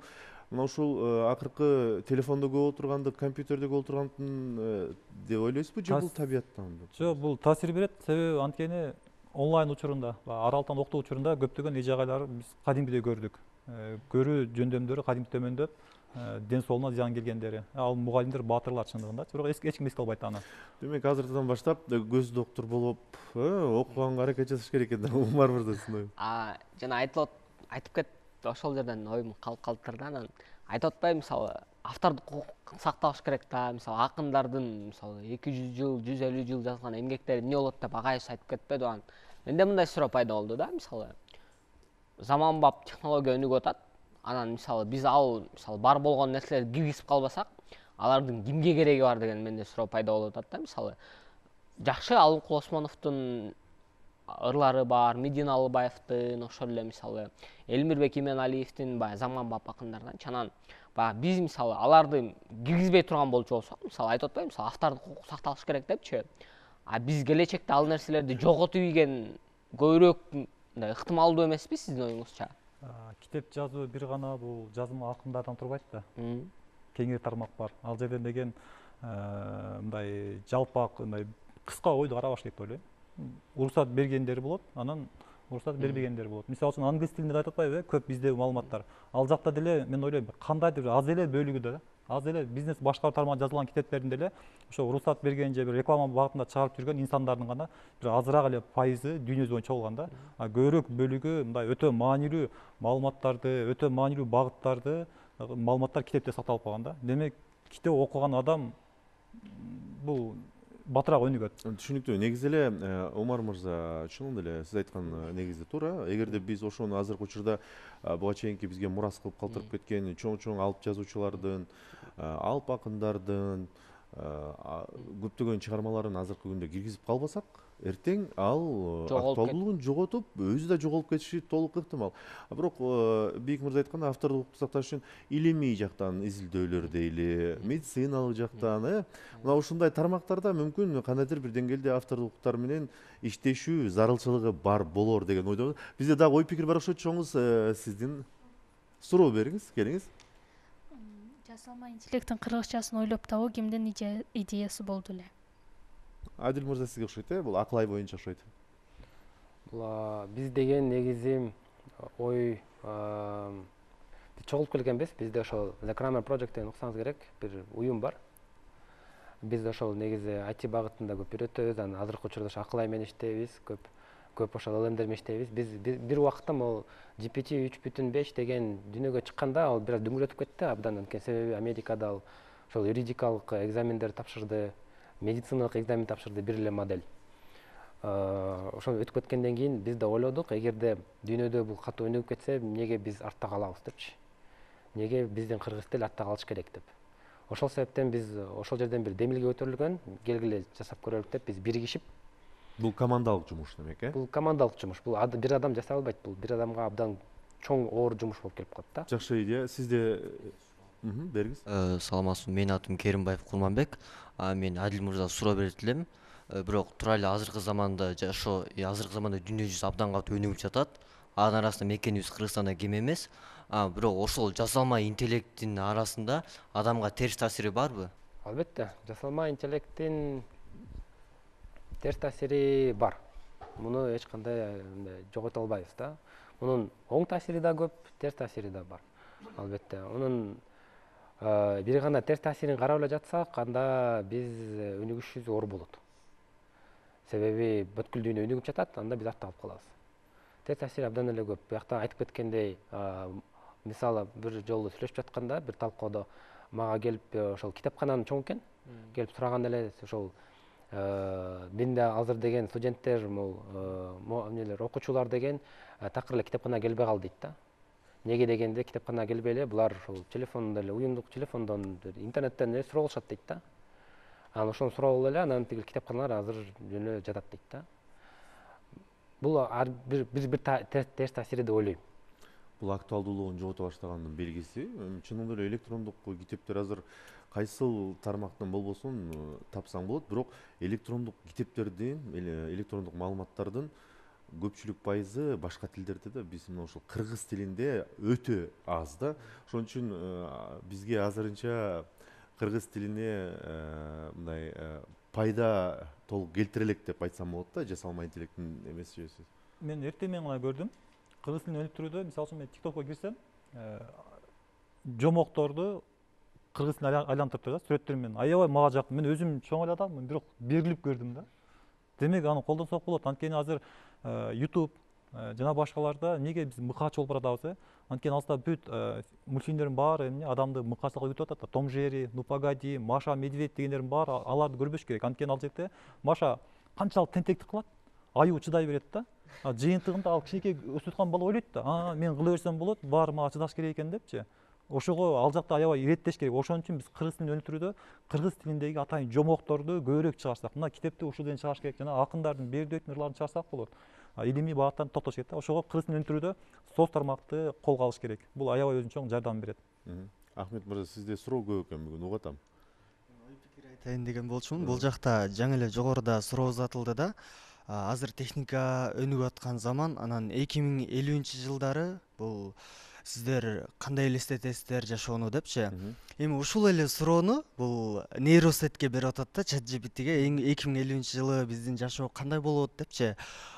мына ушул акыркы телефондо көп отургандык, компьютерде көп отургандын деп ойлойсузбу, же бул табияттан? Жок, бул таасир берет, себеби анткени онлайн учурунда, аралыктан окутуу учурунда көптөгөн үй жайларды биз кадимгидей көрдүк. Көрүү жөндөмдөрү кадимки төмөндөп, ден соолугуна зыян келгендери. Ал мугалимдер, баатырлар чындыгында. Бирок эч ким эске албайт аны. Демек азырдан баштап көз доктор болуп, окуганга аракет жасаш керек экен. Умар мырза сиздин ой. Жана айтып кетти, ошол жерден оюм калтырды. Анан айтып атпайбы, мисалы автордук укук сакталыш керек да, мисалы акындардын мисалы 200 жыл, 150 жыл жазган эмгектери эмне болот деп агайыш айтып кетпеди аны. Менде мындай суроо пайда болду да, мисалы заманбап технология өнүгүп атат. Анан мисалы биз мисалы бар болгон нерселерди киргизип калбасак, алардын кимге кереги бар деген менде суроо пайда болуп атат да. Мисалы жакшы Алымкул Осмоновдун ырлары бар, Медин Алыбаевдин, ошол эле мисалы Элмирбек Именалиевдин баягы заманбап акындардан. Анан биз мисалы аларды киргизбей турган болчу болсок, мисалы айтып атпайбы, мисалы автордук укук сакталыш керек депчи. Биз келечекте ал нерселерди жоготуп ийген көбүрөөк мындай ыктымалдуу эмеспи сиздин оюңузча? Китеп жазуу бир гана бул жазма акындардан турбайт да. Кеңири тармак бар. Ал жерден деген мындай жалпак, мындай кыска ойду карабаш керек деп ойлойм. Уруксат бергендери болот, анан уруксат бербегендери болот. Мисалы үчүн англис тилинде айтып атпайбы, көп бизде маалыматтар. Ал жакта деле мен ойлойм, кандайдыр аз эле бөлүгүдө, аз эле бизнес башкаруу тармагында жазылган китептердин деле ошо уруксат берген же бир реклама багытында чыгарып жүргөн инсандардын гана бир азыраак эле пайызы дүйнө жүзү боюнча болгон да. Көбүрөөк бөлүгү мындай өтө маанилүү маалыматтарды, өтө маанилүү багыттарды, маалыматтар китепте сакталып калган да. Демек, китеп окуган адам бул батыраак өнүгөт. Түшүнүктүү. Негизи эле Омар мырза, чын эле сиз айткан негизи туура. Эгерде биз ошону азыркы учурда буга чейинки бизге мурас кылып калтырып кеткен чоң алып жазуучулардын, алып акындардын көптөгөн чыгармаларын азыркы күндө киргизип калбасак, эртең ал актуалдуулугун жоготуп, өзү да жоголуп кетиши толук ыктымал. Бирок Бийик мырза айткандай, автордук укукту сакташ үчүн илимий жактан изилдөөлөр дейли, медициналык жактан, мына ушундай тармактарда мүмкүн кандайдыр бир деңгээлде автордук укуктар менен иштешүү зарылчылыгы бар болор деген ойдомун. Бизде дагы ой пикир бар окшойт, чоңуз сиздин суроо бериңиз, келиңиз. Жасалма интеллекттин кыргызчасын ойлоп табуу кимдин идеясы болду эле? Адил мырза сизге окшойт, бул Аклай боюнча окшойт. Бул биз деген негизи ой чогулуп келгенбиз. Бизде ошол The Kramer Project деген уксаңыз керек, бир уюм бар. Биз ошол негизи IT багытында көп үйрөтөбүз, анан азыркы учурда ошо Аклай менен иштейбиз, көп ошол LLM менен иштейбиз. Биз бир убакта могу GPT 3.5 деген дүйнөгө чыкканда ал бир аз дүңгүрөтүп кетти абдан, анткени себеби Америкада ал ошол юридикалык экзамендер тапшырды, медициналык экзамен тапшырды бир эле модель. Ошол өтүп кеткенден кийин биз да ойлодук, эгерде дүйнөдө бул катуу өнүгүп кетсе, эмнеге биз артта калабыз депчи. Эмнеге биздин кыргыз тил артта калыш керек деп. Ошол себептен биз ошол жерден бир демилге көтөрүлгөн, келгиле жасап көрөлүк деп биз биригишип. Бул командалык жумуш демек, Бул командалык жумуш. Бул бир адам жасай албайт. Бул бир адамга абдан чоң оор жумуш болуп келип калат да. Жакшы идея. Сизде Бергиз. Саламатсызбы, менин атым Керимбаев Курманбек. Мен Адил мырза суроо берет элем. Бирок тура эле азыркы заманда жашоо, азыркы заманда дүйнө жүзү абдан катуу өнүгүп жатат. Анын арасында мекенибиз Кыргызстанда кем эмес. Бирок ошол жасалма интеллекттин арасында адамга терс таасири барбы? Албетте, жасалма интеллекттин терс таасири бар. Муну эч кандай жогото албайбыз да. Мунун оң таасири да көп, терс таасири да бар. Албетте, унун бир гана терс таасирин карап эле жатсак, анда биз өнүгүшүбүз оор болот. Себеби бүткүл дүйнө өнүгүп жатат, анда биз артта калып калабыз. Терс таасири абдан эле көп. Буякта айтып кеткендей, мисалы бир жолу сүйлөшүп жатканда, бир талкоодо мага келип ошол китепкананын чоң экен, келип сураган эле ошол менде азыр деген студенттер, эмнелер, окуучулар деген такыр эле китепканага келбей калды дейт да. Неге дегенде китепканага келбей эле булар ошол телефондон эле, уюмдук телефондон, интернеттен эле суроо алышат дейт да. Анан ошону сурап алып эле анан тиги китепканалар азыр жөн эле жатат дейт да. Бул бир терс таасири деп ойлойм. Бул актуалдуулугун жогото баштаганын белгиси. Чынында эле электрондук китептер азыр кайсыл тармактан болбосун тапсаң болот, бирок электрондук китептердин, электрондук маалыматтардын көпчүлүк пайызы башка тилдерде да, биз мына ошол кыргыз тилинде өтө аз да. Ошон үчүн бизге азырынча кыргыз тилине мындай пайда толук келтире элек деп айтсам болот да, жасалма интеллекттин эмеси жөнүндө. Мен эртең менен гана көрдүм. Кыргыз тилин өнүктүрүүдө, мисалы үчүн мен TikTokко кирсем, жомокторду кыргыз тилине айлантырып турат, сүрөттөр менен. Аябай мага жакты. Мен өзүм чоң эле адаммын, бирок берилип көрдүм да. Демек аны колдонсок болот. Анткени азыр YouTube жана башкаларда неге биз мыкач болуп баратабыз? Анткени алыста бүт мультфильмдердин баары эмне адамды мыкачтыкка өтүп атат да. Том Жери, Ну погоди, Маша Медведь дегендердин баары аларды көрбөш керек. Анткени ал жерде Маша канчалык тентектик кылат, аюу чыдай берет да. Жыйынтыгында ал кичинекей өсүп аткан бала ойлойт да, мен кыла берсем болот, баары мага чыдаш керек экен депчи. Ошого ал жакта аябай иреттеш керек. Ошон үчүн биз кыргыз тилин өнүктүрүүдө кыргыз тилиндеги атайын жомокторду көбүрөөк чыгарсак, мына китепти ушул ден чыгарыш керек, жана акындардын бердөөттүн ырларын чыгарсак болот. Илимий багыттан токтош керек да. Ошого кыргыз тилин өнүктүрүүдө соц тармакты колго алыш керек. Бул аябай өзүнчө чоң жардам берет. Ахмет мырза, сизде суроо көп экен бүгүн, угуп атам. Ой пикир айтайын деген болчумун. Бул жакта жаңы эле жогоруда суроо узатылды да. Азыр техника өнүгүп аткан заман, анан 2050-жылдары бул сиздер кандай элестетесиздер жашоону депчи. Эми ушул эле суроону бул нейросетке берип атат да, ChatGPT'ге 2050-жылы биздин жашоо кандай болот депчи.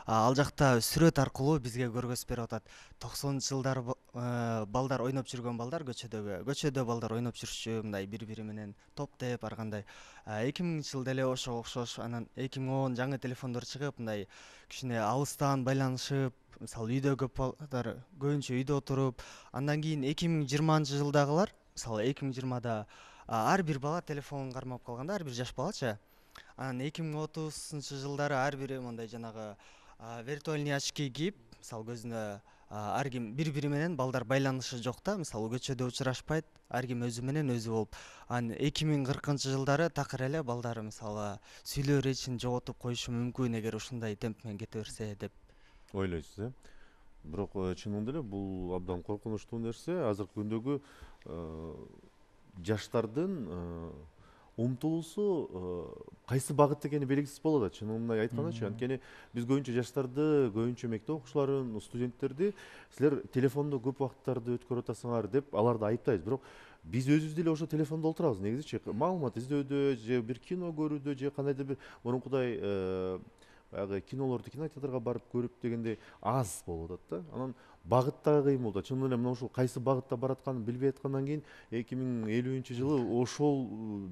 Ал жакта сүрөт аркылуу бизге көргөзүп берип атат. 90-жылдары балдар ойноп жүргөн балдар көчөдө балдар ойноп жүрчү, мындай бири-бири менен топтоп ар кандай. 2000-жылда эле ошого окшош, анан 2010 жаңы телефондор чыгып, мындай кичине алыстан байланышып, мисалы үйдө көп балдар көбүнчө үйдө отуруп, андан кийин 2020-жылдагылар, мисалы 2020да ар бир бала телефонун кармап калганда, ар бир жаш балачы. Анан 2030-жылдары ар бири мындай жанагы виртуальный очки кийип, мисалы көзүнө ар ким бири-бири менен балдар байланышы жок да, мисалы көчөдө учурашпайт, ар ким өзү менен өзү болуп. Анан 2040-жылдары такыр эле балдар мисалы сүйлөө речин жоготуп коюшу мүмкүн эгер ушундай темп менен кете берсе деп ойлойсуз, Бирок чынында эле бул абдан коркунучтуу нерсе. Азыркы күндөгү жаштардын умтулуусу кайсы багытта экени белгисиз болот да, чынын айткандачы. Анткени биз көбүнчө жаштарды, көбүнчө мектеп окуучуларын, студенттерди силер телефондо көп убакыттарды өткөрүп атасыңар деп аларды айыптайбыз. Бирок биз өзүбүз деле ошо телефондо олтурабыз негизичи. Маалымат издөөдө же бир кино көрүүдө же кандайдыр бир мурункудай баягы кинолорду кинотеатрга барып көрүп дегендей аз болуп атат да. Анан багыттагы кыймыл да, чынында эле мына ушул кайсы багытта баратканын билбей аткандан кийин 2050-жылы ошол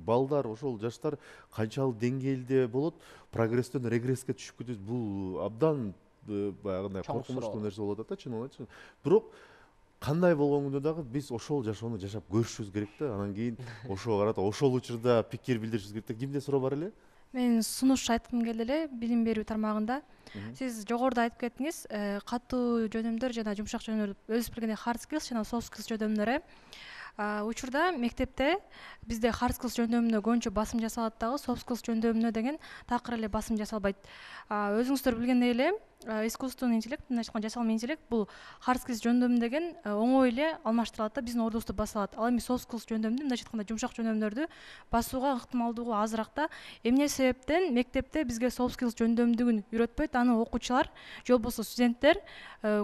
балдар, ошол жаштар канчалык деңгээлде болот, прогресстен регресске түшүп кетет. Бул абдан баягындай коркунучтуу нерсе болуп атат да, чынында. Бирок кандай болгондо дагы биз ошол жашоону жашап көрүшүбүз керек да. Анан кийин ошого карата ошол учурда пикир билдиришибиз керек да. Кимде суроо бар эле? Мен сунуш айткым келди эле билим берүү тармагында. Сиз жогоруда айтып кеттиңиз, катуу жөнөмдөр жана жумшак жөнөмдөр, өзүңүз билгендей hard skills жана soft skills жөнөмдөр. Учурда мектепте бизде hard skills жөндөмүнө көбүнчө басым жасалат дагы, soft skills жөндөмүнө деген такыр эле басым жасалбайт. Өзүңүздөр билгендей эле искусственный интеллект, мындайча айтканда жасалма интеллект бул hard skills жөндөмү деген оңой эле алмаштырылат да, биздин ордубузду баса алат. Ал эми soft skills жөндөмдү, мындайча айтканда жумшак жөндөмдөрдү басууга ыктымалдуулугу азыраак да. Эмне себептен мектепте бизге soft skills жөндөмдүгүн үйрөтпөйт, аны окуучулар же болбосо студенттер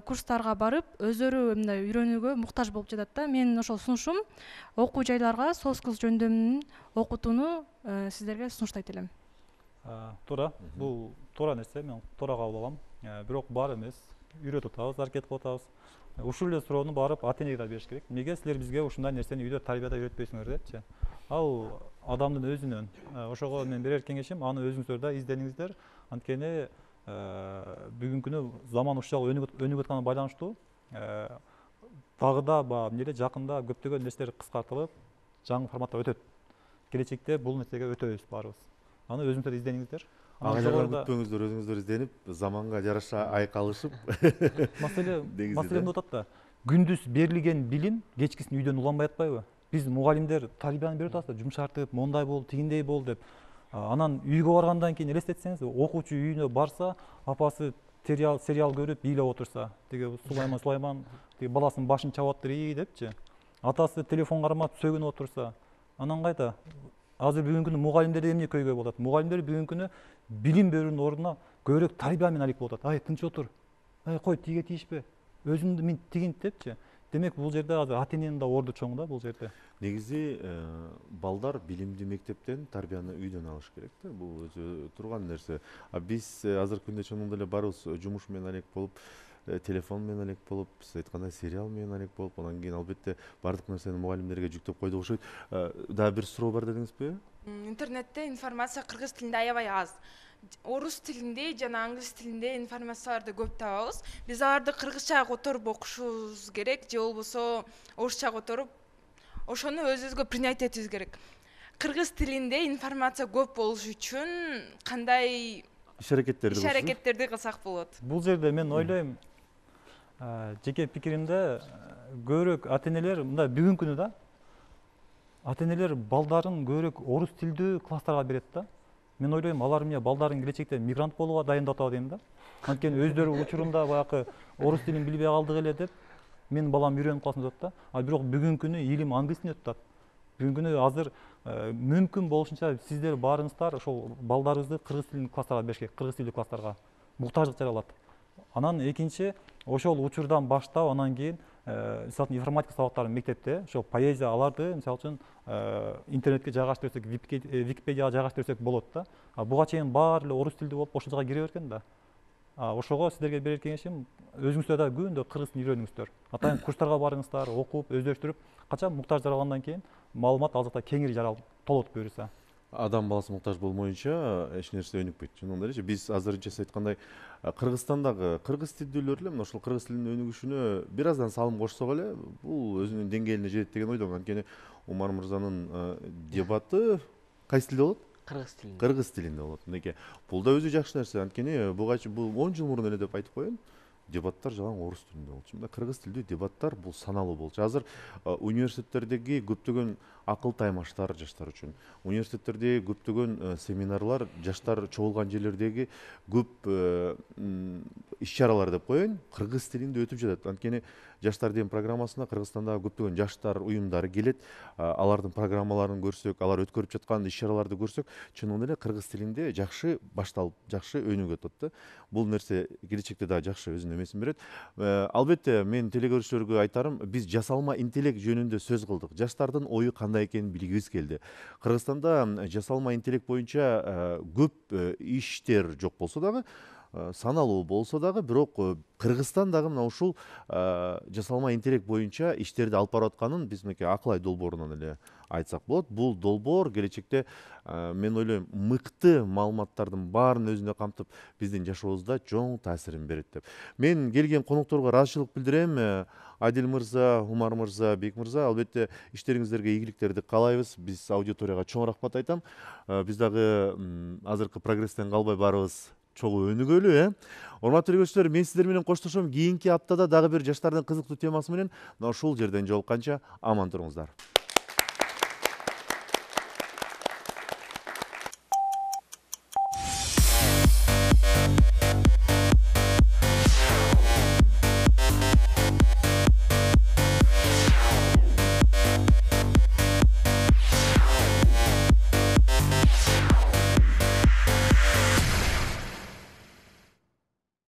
курстарга барып өздөрү мындай үйрөнүүгө муктаж болуп жатат да. Менин ошол сунушум окуу жайларга soft skills жөндөмүн окутууну сиздерге сунуштайт элем. Туура, бул туура нерсе, мен туура кабыл алам. Бирок бар эмес, үйрөтүп атабыз, аракет кылып атабыз. Ушул эле суроону барып ата-энеге да бериш керек. Эмнеге силер бизге ушундай нерсени үйдө тарбияда үйрөтпөйсүңөр депчи. Ал адамдын өзүнөн. Ошого мен берер кеңешим, аны өзүңүздөр да издениңиздер. Анткени бүгүнкү күнү заман ушул өнүгүп атканына байланыштуу дагы да эмне жакында көптөгөн нерселер кыскартылып, жаңы форматта өтөт. Келечекте бул нерсеге өтөбүз баарыбыз. Аны өзүңүздөр издениңиздер. Ага күтпөңүздөр, өзүңүздөр изденип, заманга жараша айкалышып. Маселе эмне атат да? Күндүз берилген билим кечкисин үйдөн уланбай атпайбы? Биз мугалимдер тарбияны берип атабыз да, жумшартып, мондай бол, тигиндей бол деп. Анан үйгө баргандан кийин элестетсеңиз, окуучу үйүнө барса, апасы сериал көрүп, бийлеп отурса, тиги Сулайман тиги баласынын башын чабып атыр депчи. Атасы телефон кармап сөгүнүп отурса, анан кайда? Азыр бүгүнкү күнү мугалимдер эмне көйгөй болот? Мугалимдер бүгүнкү күнү билим берүүнүн ордуна көбүрөөк тарбия менен алек болот. Ай, тынч отур. Ай, кой, тиге тийишпе. Өзүңдү мен тигинт депчи. Демек бул жерде азыр ата-эненин да орду чоң да бул жерде. Негизи балдар билимди мектептен, тарбияны үйдөн алыш керек да. Бул өзү турган нерсе. Биз азыркы күндө чоңдо эле барыбыз жумуш менен алек болуп, телефон менен алек болуп, сиз айткандай сериал менен алек болуп, анан кийин албетте бардык нерсени мугалимдерге жүктөп койдук окшойт. Дагы бир суроо бар дедиңизби? Интернетте информация кыргыз тилинде аябай аз. Орус тилинде жана англис тилинде информацияларды көп табабыз. Биз аларды кыргызча которуп окушубуз керек, же болбосо орусча которуп ошону өзүбүзгө принять этибиз керек. Кыргыз тилинде информация көп болуш үчүн кандай иш-аракеттерди кылсак болот? Бул жерде мен ойлойм, жеке пикиримде көбүрөөк ата-энелер мындай бүгүнкү күнү да ата-энелер балдарын көбүрөөк орус тилдүү класстарга берет да. Мен ойлойм, алар эмне балдарын келечекте мигрант болууга дайындап атабы дейм да. Анткени өздөрү учурунда баягы орус тилин билбей калдык эле деп менин балам үйрөнүп калсын деп атат да. Бирок бүгүнкү күнү илим англис тилинде өтүп атат. Бүгүнкү күнү азыр мүмкүн болушунча сиздер баарыңыздар ошол балдарыбызды кыргыз тилиндүү класстарга бериш керек, кыргыз тилдүү класстарга. Муктаждык жаралат. Анан экинчи, ошол учурдан баштап, анан кийин мисалы үчүн информатика сабактарын мектепте, ошол поэзия аларды мисалы үчүн интернетке жайгаштырсак, Википедияга жайгаштырсак болот да. Буга чейин баары эле орус тилдүү болуп ошол жака кире берген да. Ошого сиздерге берер кеңешим, өзүңүздөр да күндө кыргыз тилин үйрөнүңүздөр. Атайын курстарга барыңыздар, окуп, өздөштүрүп, качан муктаж жаралгандан кийин маалымат ал жакта кеңири толот буюрса. Адам баласы муктаж болмоюнча эч нерсе өнүкпөйт. Чындыгында эле биз азырынча сиз айткандай Кыргызстандагы кыргыз тилдүүлөр эле ошол кыргыз тилинин өнүгүшүнө бир аздан салым кошсок эле бул өзүнүн деңгээлине жетет деген ойдомун. Анткени Умар мырзанын дебаты кайсы тилде болот? Кыргыз тилинде. Кыргыз тилинде болот. Мынакей, бул да өзү жакшы нерсе. Анткени бул 10 жыл мурун эле деп айтып коеюн. Дебаттар жалаң орус тилинде болчу. Мында кыргыз тилдүү дебаттар бул саналуу болчу. Азыр университеттердеги көптөгөн акыл таймаштар жаштар үчүн, университеттердеги көптөгөн семинарлар, жаштар чогулган жерлердеги көп иш-чаралар деп коеюн, кыргыз тилинде өтүп жатат. Анткени жаштар дем программасына Кыргызстандагы көптөгөн жаштар уюмдары келет. Алардын программаларын көрсөк, алар өткөрүп жаткан иш-чараларды көрсөк, чынында эле кыргыз тилинде жакшы башталып, жакшы өнүгүп атат да. Бул нерсе келечекте дагы жакшы өзүнүн эмесин берет. Албетте мен телекөрүүчүлөргө айтарым, биз жасалма интеллект жөнүндө сөз кылдык. Жаштардын ою кандай экенин билгибиз келди. Кыргызстанда жасалма интеллект боюнча көп иштер жок болсо дагы, саналуу болсо дагы, бирок Кыргызстан дагы мына ушул жасалма интеллект боюнча иштерди алып барып атканын биз мынакей Акылай долбоорунан эле айтсак болот. Бул долбоор келечекте мен ойлойм мыкты маалыматтардын баарын өзүндө камтып, биздин жашообузда чоң таасирин берет деп. Мен келген конокторго ыраазычылык билдирем. Адил мырза, Умар мырза, Бек мырза, албетте иштериңиздерге ийгиликтерди каалайбыз. Биз аудиторияга чоң рахмат айтам. Биз дагы азыркы прогресстен калбай барыбыз чогуу өнүгөлү, Урматтуу көрүүчүлөр, мен сиздер менен коштошом. Кийинки аптада дагы бир жаштардын кызыктуу темасы менен ушул жерден жолукканча аман туруңуздар.